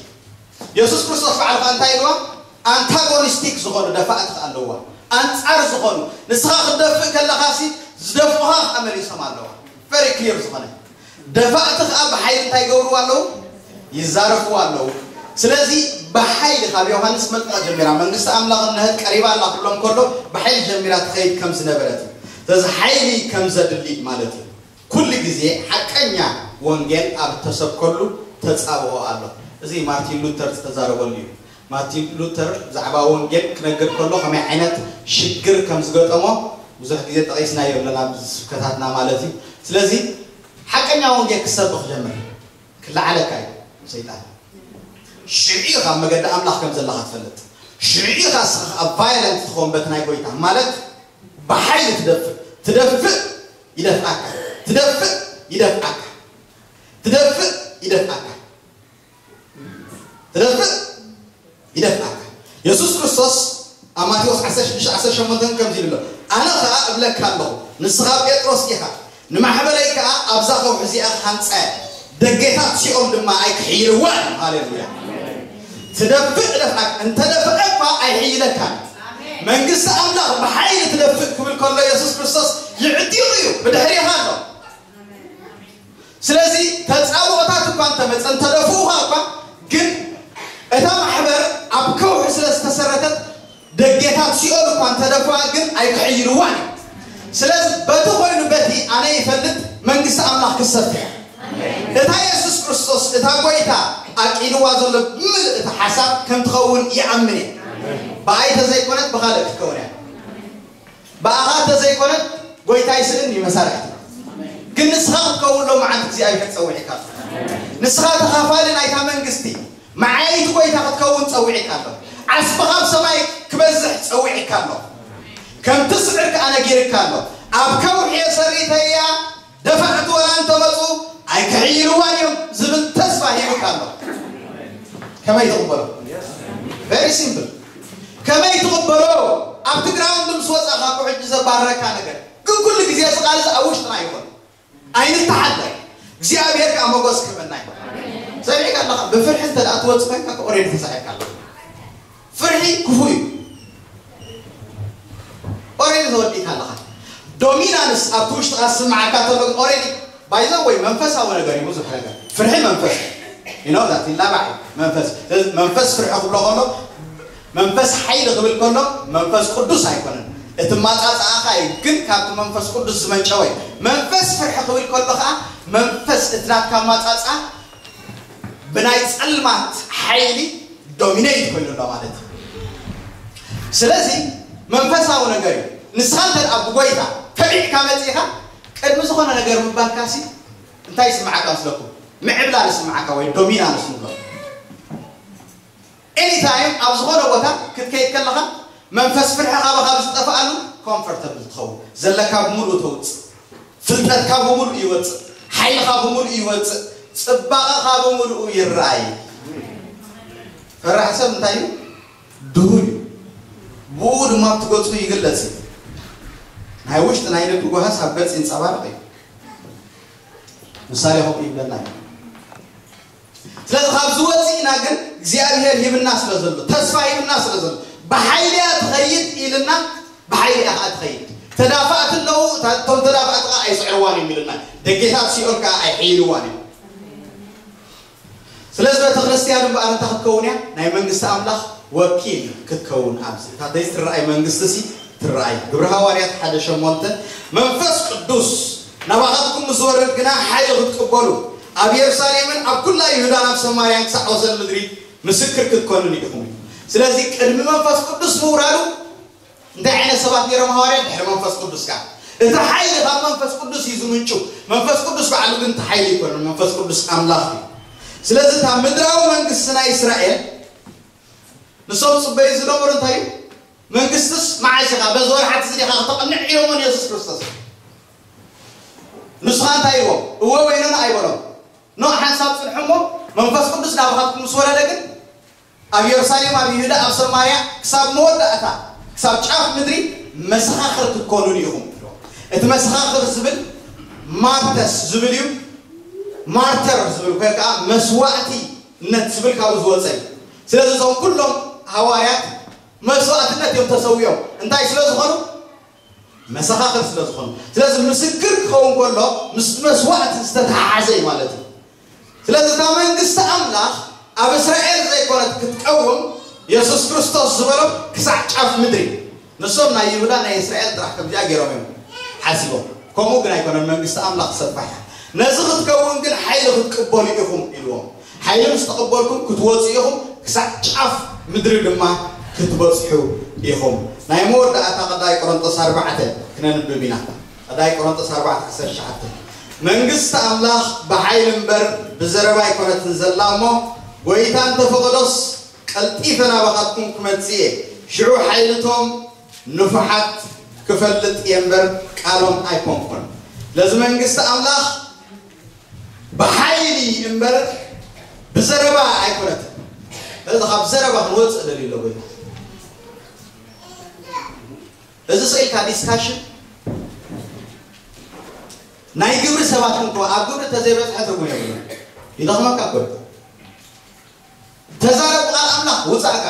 የሱስ ክርስቶስ ባዕሉ ኸኣ እንታይ ኢልዋ? ኣንታጎኒስቲክ ዝኾኑ ደፋእቲ ኸኣ ኣለዋ። ኣንጻር ዝኾኑ ንስኻ ክትደፍእ ከለኻሲ ዝደፍኡኻ ኸኣ መሊሶም ኣለዋ። ቨሪ ክሊር ዝኾነ ደፋእቲ ኸዓ ብሓይሊ እንታይ ይገብርዎ ኣለዉ? ይዛረፍዎ ኣለዉ። ስለዚ ብሓይሊ ካብ ዮሃንስ መጥምቕ ጀሚራ መንግስቲ ኣምላኽ እንሀት ቀሪባ ኣላ ክብሎም ከሎ ብሓይሊ ጀሚራ ትኸይድ ከም ዝነበረት እዩ። ስለዚ ሓይሊ ከም ዘድሊ ማለት እዩ። ኩሉ ግዜ ሓቀኛ ወንጌል ኣብ እተሰብከሉ ተጻብኦ ኣሎ። እዚ ማርቲን ሉተር ዝተዛረበሉ እዩ። ማርቲን ሉተር ብዛዕባ ወንጌል ክነግር ከሎ ከመይ ዓይነት ሽግር ከም ዝገጠሞ ብዙሕ ግዜ ጠቒስናዮ ኣለና ኣብዚ ስብከታትና ማለት እዩ። ስለዚ ሓቀኛ ወንጌል ክሰብኽ ጀምር። ክለዓለካ እዩ ሰይጣን። ሽዑ ኢኻ ኣብ መገዲ ኣምላኽ ከም ዘለኻ ትፈልጥ። ሽዑ ኢኻ እስኻ ኣብ ቫዮለንት ትኸውን በቲ ናይ ጎይታ ማለት ብሓይሊ ትደፍእ። ትደፍእ ይደፍኣካ። ትደፍእ ይደፍኣካ። ትደፍእ ይደፍኣካ። ትደፍእ፣ ይደፍኣካ። የሱስ ክርስቶስ ኣብ ማቴዎስ ዓሰርተ ሽዱሽተ ዓሰርተ ሸሞንተ ከምዚ ይብሎ፣ ኣነ ኸኣ እብለካ ኣለኹ፣ ንስኻ ጴጥሮስ ኢኻ፣ ንማሕበረይ ከኣ ኣብዛ ከውሒ እዚኣ ክሃንጻ እየ፣ ደጌታት ሲኦል ድማ ኣይክሕይልዋን። ሃሌሉያ። ትደፍእ፣ እደፍኣካ። እንተ ደፍአ እኳ ኣይሕይለካን። መንግስቲ ኣምላኽ ብሓይሊ ትደፍእ ክብል ከሎ የሱስ ክርስቶስ ይዕጢቑ እዩ፣ ብድሕሪኻ ኣሎ። ስለዚ ተጻብኦታት እኳ እንተመጸ፣ እንተደፍኡኻ እኳ፣ ግን እታ ማሕበር ኣብ ከውሒ ስለ ዝተሰረተት፣ ደጌታት ሲኦል እኳ እንተደፍኣ ግን ኣይክሕይልዋን እዩ። ስለዚ በቲ ኮይኑ በቲ ኣነ ይፈልጥ መንግስቲ ኣምላኽ ክሰፍሕ። እታ የሱስ ክርስቶስ እታ ጎይታ ኣቂልዋ ዘሎ ብምልእ እቲ ሓሳብ ከም ትኸውን ይኣምን እየ። ብኣይ ተዘይኮነት ብኻልእ ክትከውን እያ። ብኣኻ ተዘይኮነት ጎይታ ይስእን እዩ መሳርሕቲ። ግን ንስኻ ክትከውን ሎ መዓልቲ እግዚኣብሔር ጸዊዕካ ኣሎ። ንስኻ ተኻፋሊ ናይታ መንግስቲ መዓይቲ ጎይታ ክትከውን ጸዊዕካ ኣሎ። ዓስብኻ ኣብ ሰማይ ክበዝሕ ጸዊዕካ ኣሎ። ከም ትስዕር ከኣ ነጊርካ ኣሎ። ኣብ ከውሒ የሰሪተያ ደፋዕቲ ወላ እንተመጹ ኣይክሕይልዋን እዮም ዝብል ተስፋ ሂቡካ ኣሎ። ከመይ ትቕበሎ? Very simple። ከመይ ትቕበሎ? ኣብቲ ግራውንድ ምስ ወጻኻ እኮ ሕጂ ዘባረረካ ነገር ግን ኩሉ ግዜ እዚ ቃል እዚ ኣብ ውሽጥና ይኾን። ኣይንተሓለል። እግዚኣብሔር ከኣ መጎስ ክህበና እዩ። ሰሚዕካ ኣለኻ? ብፍርሒ እንተ ደኣ ትወጽእ ኮይንካ ኦሬዲ ተሳሒርካ ኣለኻ። ፍርሒ ክፉእ እዩ። ኦሬዲ ተወዲእካ ኣለኻ። ዶሚናንስ ኣብቲ ውሽጥኻ ዝስምዓካ ተሎ ኦሬዲ ባይዘ ወይ መንፈሳዊ ነገር እዩ። ብዙሕ ነገር ፍርሒ መንፈስ ይኖ ዛት ይላባዕ እዩ። መንፈስ ስለዚ መንፈስ ፍርሒ ክብሎ ከሎ መንፈስ ሓይሊ ክብል ከሎ መንፈስ ቅዱስ ኣይኮነን። እቲ ማጻጻኣኻ እዩ ግን ካብቲ መንፈስ ቅዱስ ዝመንጨወ እዩ። መንፈስ ፍርሒ ክብል ከሎ ከዓ መንፈስ እቲ ናትካ ማጻጻ ብናይ ጸልማት ሓይሊ ዶሚኔት ኮይኑ ኣሎ ማለት እዩ። ስለዚ መንፈሳዊ ነገር እዩ። ንስኻ እንተ ደኣ ብጎይታ ተቢዕካ መጺኻ ቅድሚ ዝኾነ ነገር ምባልካሲ እንታይ ይስምዓካ መስለኩም? ምዕብላል ይስምዓካ ወይ ዶሚናንስ ንብሎ። ኤኒታይም ኣብ ዝኾነ ቦታ ክትከይድ ከለኻ መንፈስ ፍርሒ ካባኻ ኣብ ዝጠፍኣሉ ኮምፎርተብል ትኸውን። ዘለካ ብምሉእ ተውፅእ፣ ፍልጠትካ ብምሉእ ይወፅእ፣ ሓይልኻ ብምሉእ ይወፅእ፣ ፅባቐኻ ብምሉኡ ይረኣይ። ፈራሕ ሰብ እንታይ እዩ? ድሁል እዩ። ብኡ ድማ ኣብቲ ገፁ ይግለፅ እዩ። ናይ ውሽጢ ናይ ልቢ ጓሃስ ኣብ ገፅ ይንፀባረቕ እዩ። ምሳሌ ከምኡ ይብለና እዩ። ስለዚ ካብዚ ወፂእና ግን እግዚኣብሔር ሂብና ስለ ዘሎ፣ ተስፋ ሂብና ስለ ዘሎ፣ ብሓይሊ እያ ትኸይድ ኢልና፣ ብሓይሊ እያ ከዓ ትኸይድ። ተዳፋእቲ ኣለዉ፣ እታ- እቶም ተዳፋእቲ ከዓ ኣይስዕርዋን እዮም ኢልና፣ ደጌታት ሲኦል ከዓ ኣይሕይልዋን እዮም። ስለዚ ቤተ ክርስቲያን እምበኣር እንታይ ክትከውን እያ? ናይ መንግስቲ ኣምላኽ ወኪል ክትከውን ኣብዚ እታ ዘይትረኣይ መንግስቲ ሲ ትረኣይ። ግብሪ ሃዋርያት ሓደ ሸሞንተ መንፈስ ቅዱስ ናባኻትኩም ምስ ዝወርድ ግና ሓይሊ ክትቅበሉ ኣብ የሩሳሌምን ኣብ ኩላ ይሁዳን ኣብ ሰማርያን ክሳዕ ወሰን ምድሪ ምስክር ክትኮኑን ኢኹም። ስለዚ ቅድሚ መንፈስ ቅዱስ ምውራዱ እንታይ ዓይነት ሰባት ነይሮም ሃዋርያት? ድሕሪ መንፈስ ቅዱስ ከኣ እቲ ሓይሊ ካብ መንፈስ ቅዱስ እዩ ዝምንጩ። መንፈስ ቅዱስ ባዕሉ ግን እቲ ሓይሊ ኣይኮነን። መንፈስ ቅዱስ ኣምላኽ እዩ። ስለዚ እታ ምድራዊ መንግስቲ ናይ እስራኤል ንሶም ጽበዩ ዝነበሩ እንታይ እዩ? መንግስትስ መዓስ ኢኻ በዚ ወርሓት እዚ ዲኻ ከተቕንዕ ኢሎሞ ንየሱስ ክርስቶስ። ንስኻ እንታይ ኢልዎም? እወ ወይኖና ኣይበሎም። ኖ ሓንሳብ ጽንሑ እሞ መንፈስ ቅዱስ ናባኻትኩም ምስ ወረደ ግን ኣብ የሩሳሌም፣ ኣብ ይሁዳ፣ ኣብ ሰማርያ ክሳብ መወዳእታ ክሳብ ጫፍ ምድሪ መሰኻኽር ክትኮኑን ኢኹም። እቲ መሰኻኽር ዝብል ማርተስ ዝብል እዩ። ማርተር ዝብል ወይ ከዓ መስዋእቲነት ዝብል ካብኡ ዝወፀ እዩ። ስለዚ እዞም ኩሎም ሃዋርያት መስዋእትነት እዮም ተሰዊኦም። እንታይ ስለ ዝኾኑ? መሰኻኽር ስለ ዝኾኑ። ስለዚ ምስክር ክኸውን ከሎ ምስ መስዋእቲ ዝተተሓሓዘ እዩ ማለት እዩ። ስለዚ እታ መንግስቲ ኣምላኽ ኣብ እስራኤል ዘይኮነት ክትቀውም የሱስ ክርስቶስ ዝበሎም ክሳዕ ጫፍ ምድሪ። ንሶም ናይ ይሁዳ ናይ እስራኤል ጥራሕ ከምዚኣ ገይሮም እዮም ሓሲቦም። ከምኡ ግን ኣይኮነን። መንግስቲ ኣምላኽ ሰፋሕ እያ። ነዚ ክትከውን ግን ሓይሊ ክትቅበሉ ኢኹም ኢልዎም። ሓይሊ ምስ ተቐበልኩም ክትወፁ ኢኹም፣ ክሳዕ ጫፍ ምድሪ ድማ ክትበፅሑ ኢኹም። ናይ መወዳእታ ቀዳይ ቆሮንጦስ ኣርባዕተ ክነንብብ ኢና። ቀዳይ ቆሮንጦስ ኣርባዕተ ዓሰርተ ትሽዓተ መንግስቲ ኣምላኽ ብሓይሊ እምበር ብዘረባ ኣይኮነትን ዘላ እሞ፣ ጎይታ እንተፈቐዶስ ቀልጢፈ ናባኻትኩም ክመጽእ እየ። ሽዑ ሓይልቶም ንፉሓት ክፈልጥ እየ እምበር ቃሎም ኣይኮንኩን። ስለዚ መንግስቲ ኣምላኽ ብሓይሊ እምበር ብዘረባ ኣይኮነትን። ስለዚ ካብ ዘረባ ክንወፅእ ደልዩ ኣሎ ጎይታ። እዚ ስኢልካ ዲስካሽን ናይ ግብሪ ሰባት እንኮ ኣብ ግብሪ ተዘይበፅሐ ትርጉም የብሉን። ይደኽመካ እኮ እዩ። ተዛረብ ቃል ኣምላኽ ውፃእካ።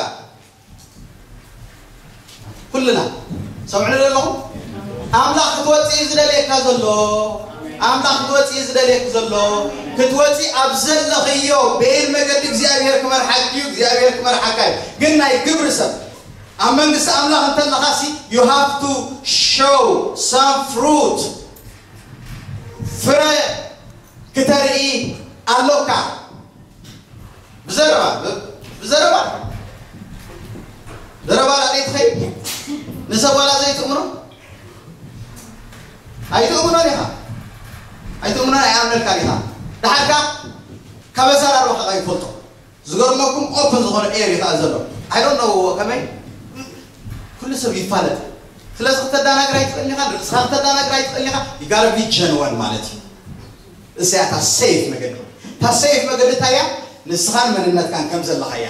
ኩልና ሰምዕሉ ዘለኹም ኣምላኽ ክትወፅእ እዩ ዝደልየካ ዘሎ። ኣምላኽ ክትወፅእ እዩ ዝደልየክ ዘሎ። ክትወፂ ኣብ ዘለኽዮ ቤን መገዲ እግዚኣብሔር ክመርሓክ እዩ። እግዚኣብሔር ክመርሓካ እዩ። ግን ናይ ግብሪ ሰብ ኣብ መንግስቲ ኣምላኽ እንተለኻሲ you have to show some fruit ፍረ ክተርኢ ኣሎካ። ብዘረባ ብዘረባ ዘረባ ላዕሊ ትኸይድ ንሰብ ዋላ ዘይትእምኖ ኣይትእምኖን ኢኻ። ኣይትእምኖን ኣይኣምነልካ ኢኻ። ድሓርካ ካብ ኣዘራርባኻ ይፈልጦ። ዝገርመኩም ኦፕን ዝኾነ ኤር ይኸኣ ዘሎ I don't know ከመይ ኩሉ ሰብ ይፋለጥ። ስለዚ ክተዳናግር ኣይትኽእልን ኢኻ። ንርእስኻ ክተዳናግር ኣይትኽእልን ኢኻ። You gotta be genuine ማለት እዩ። እዚኣ እታ ሴፍ መገዲ እታ ሴፍ መገዲ እንታይ እያ? ንስኻን መንነትካን ከም ዘለኻ እያ።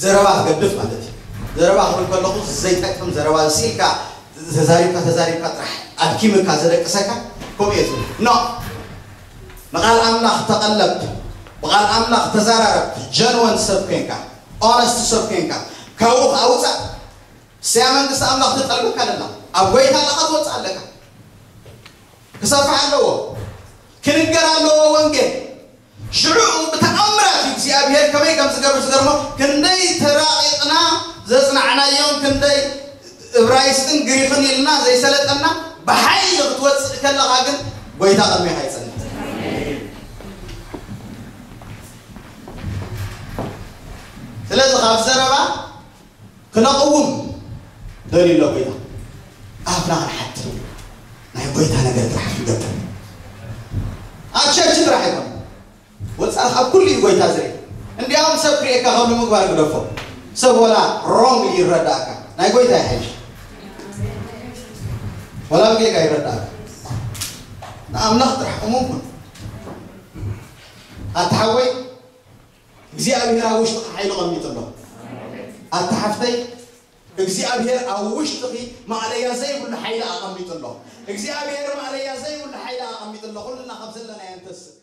ዘረባ ትገድፍ ማለት እዩ። ዘረባ ክብል ከለኹ ዘይጠቅም ዘረባ ስኢልካ ተዛሪብካ ተዛሪብካ ጥራሕ ኣድኪምካ ዘደቅሰካ ከምኡ እየ ዝብል ኖ ንቓል ኣምላኽ ተቐለብ ብቓል ኣምላኽ ተዛራረብ ጀንወን ሰብ ኮንካ ኦነስት ሰብ ኮንካ ካብኡ ከዓ ውፃእ ስያ መንግስቲ ኣምላኽ ትጠልበካ ኣለና ኣብ ጎይታ ኣለኻ ትወፅእ ኣለካ ክሰፍሕ ኣለዎ ክንገር ኣለዎ ወንጌል ሽዑ ብተኣምራት እዩ እግዚኣብሔር ከመይ ከም ዝገብር ዝገርሞ ክንደይ ተራቂቕና ዘፅናዕናዮም ክንደይ እብራይስጥን ግሪኽን ኢልና ዘይሰለጠና ብሓይሊ ክትወፅእ ከለኻ ግን ጎይታ ቅድሜኻ ይፅንሕ ስለዚ ካብ ዘረባ ክነቕውም ደልዩ ኣሎ ጎይታ ኣፍና ክንሓት ናይ ጎይታ ነገር ጥራሕ ክንገብር ኣብ ቸርች ጥራሕ ኣይኮነ ወፃኢ ካብ ኩሉ እዩ ጎይታ ዝርኢ እንዲያውም ሰብ ክርእየካ ከሉ ምግባር ግደፎ ሰብ ወላ ሮንግ ይረዳእካ ናይ ጎይታ ይሓይሽ ወላ ብጌጋ ይረዳእካ ንኣምላኽ ጥራሕ እሙን ኩን ኣታ ሓወይ እግዚኣብሔር ኣብ ውሽጥኻ ሓይሊ ቐሚጡ ኣሎ ኣታ ሓፍተይ እግዚኣብሔር ኣብ ውሽጥኺ ማእለያ ዘይብሉ ሓይሊ ኣቐሚጡ ኣሎ እግዚኣብሔር ማእለያ ዘይብሉ ሓይሊ ኣቐሚጡ ኣሎ ኩልና ካብ ዘለና የንተስእ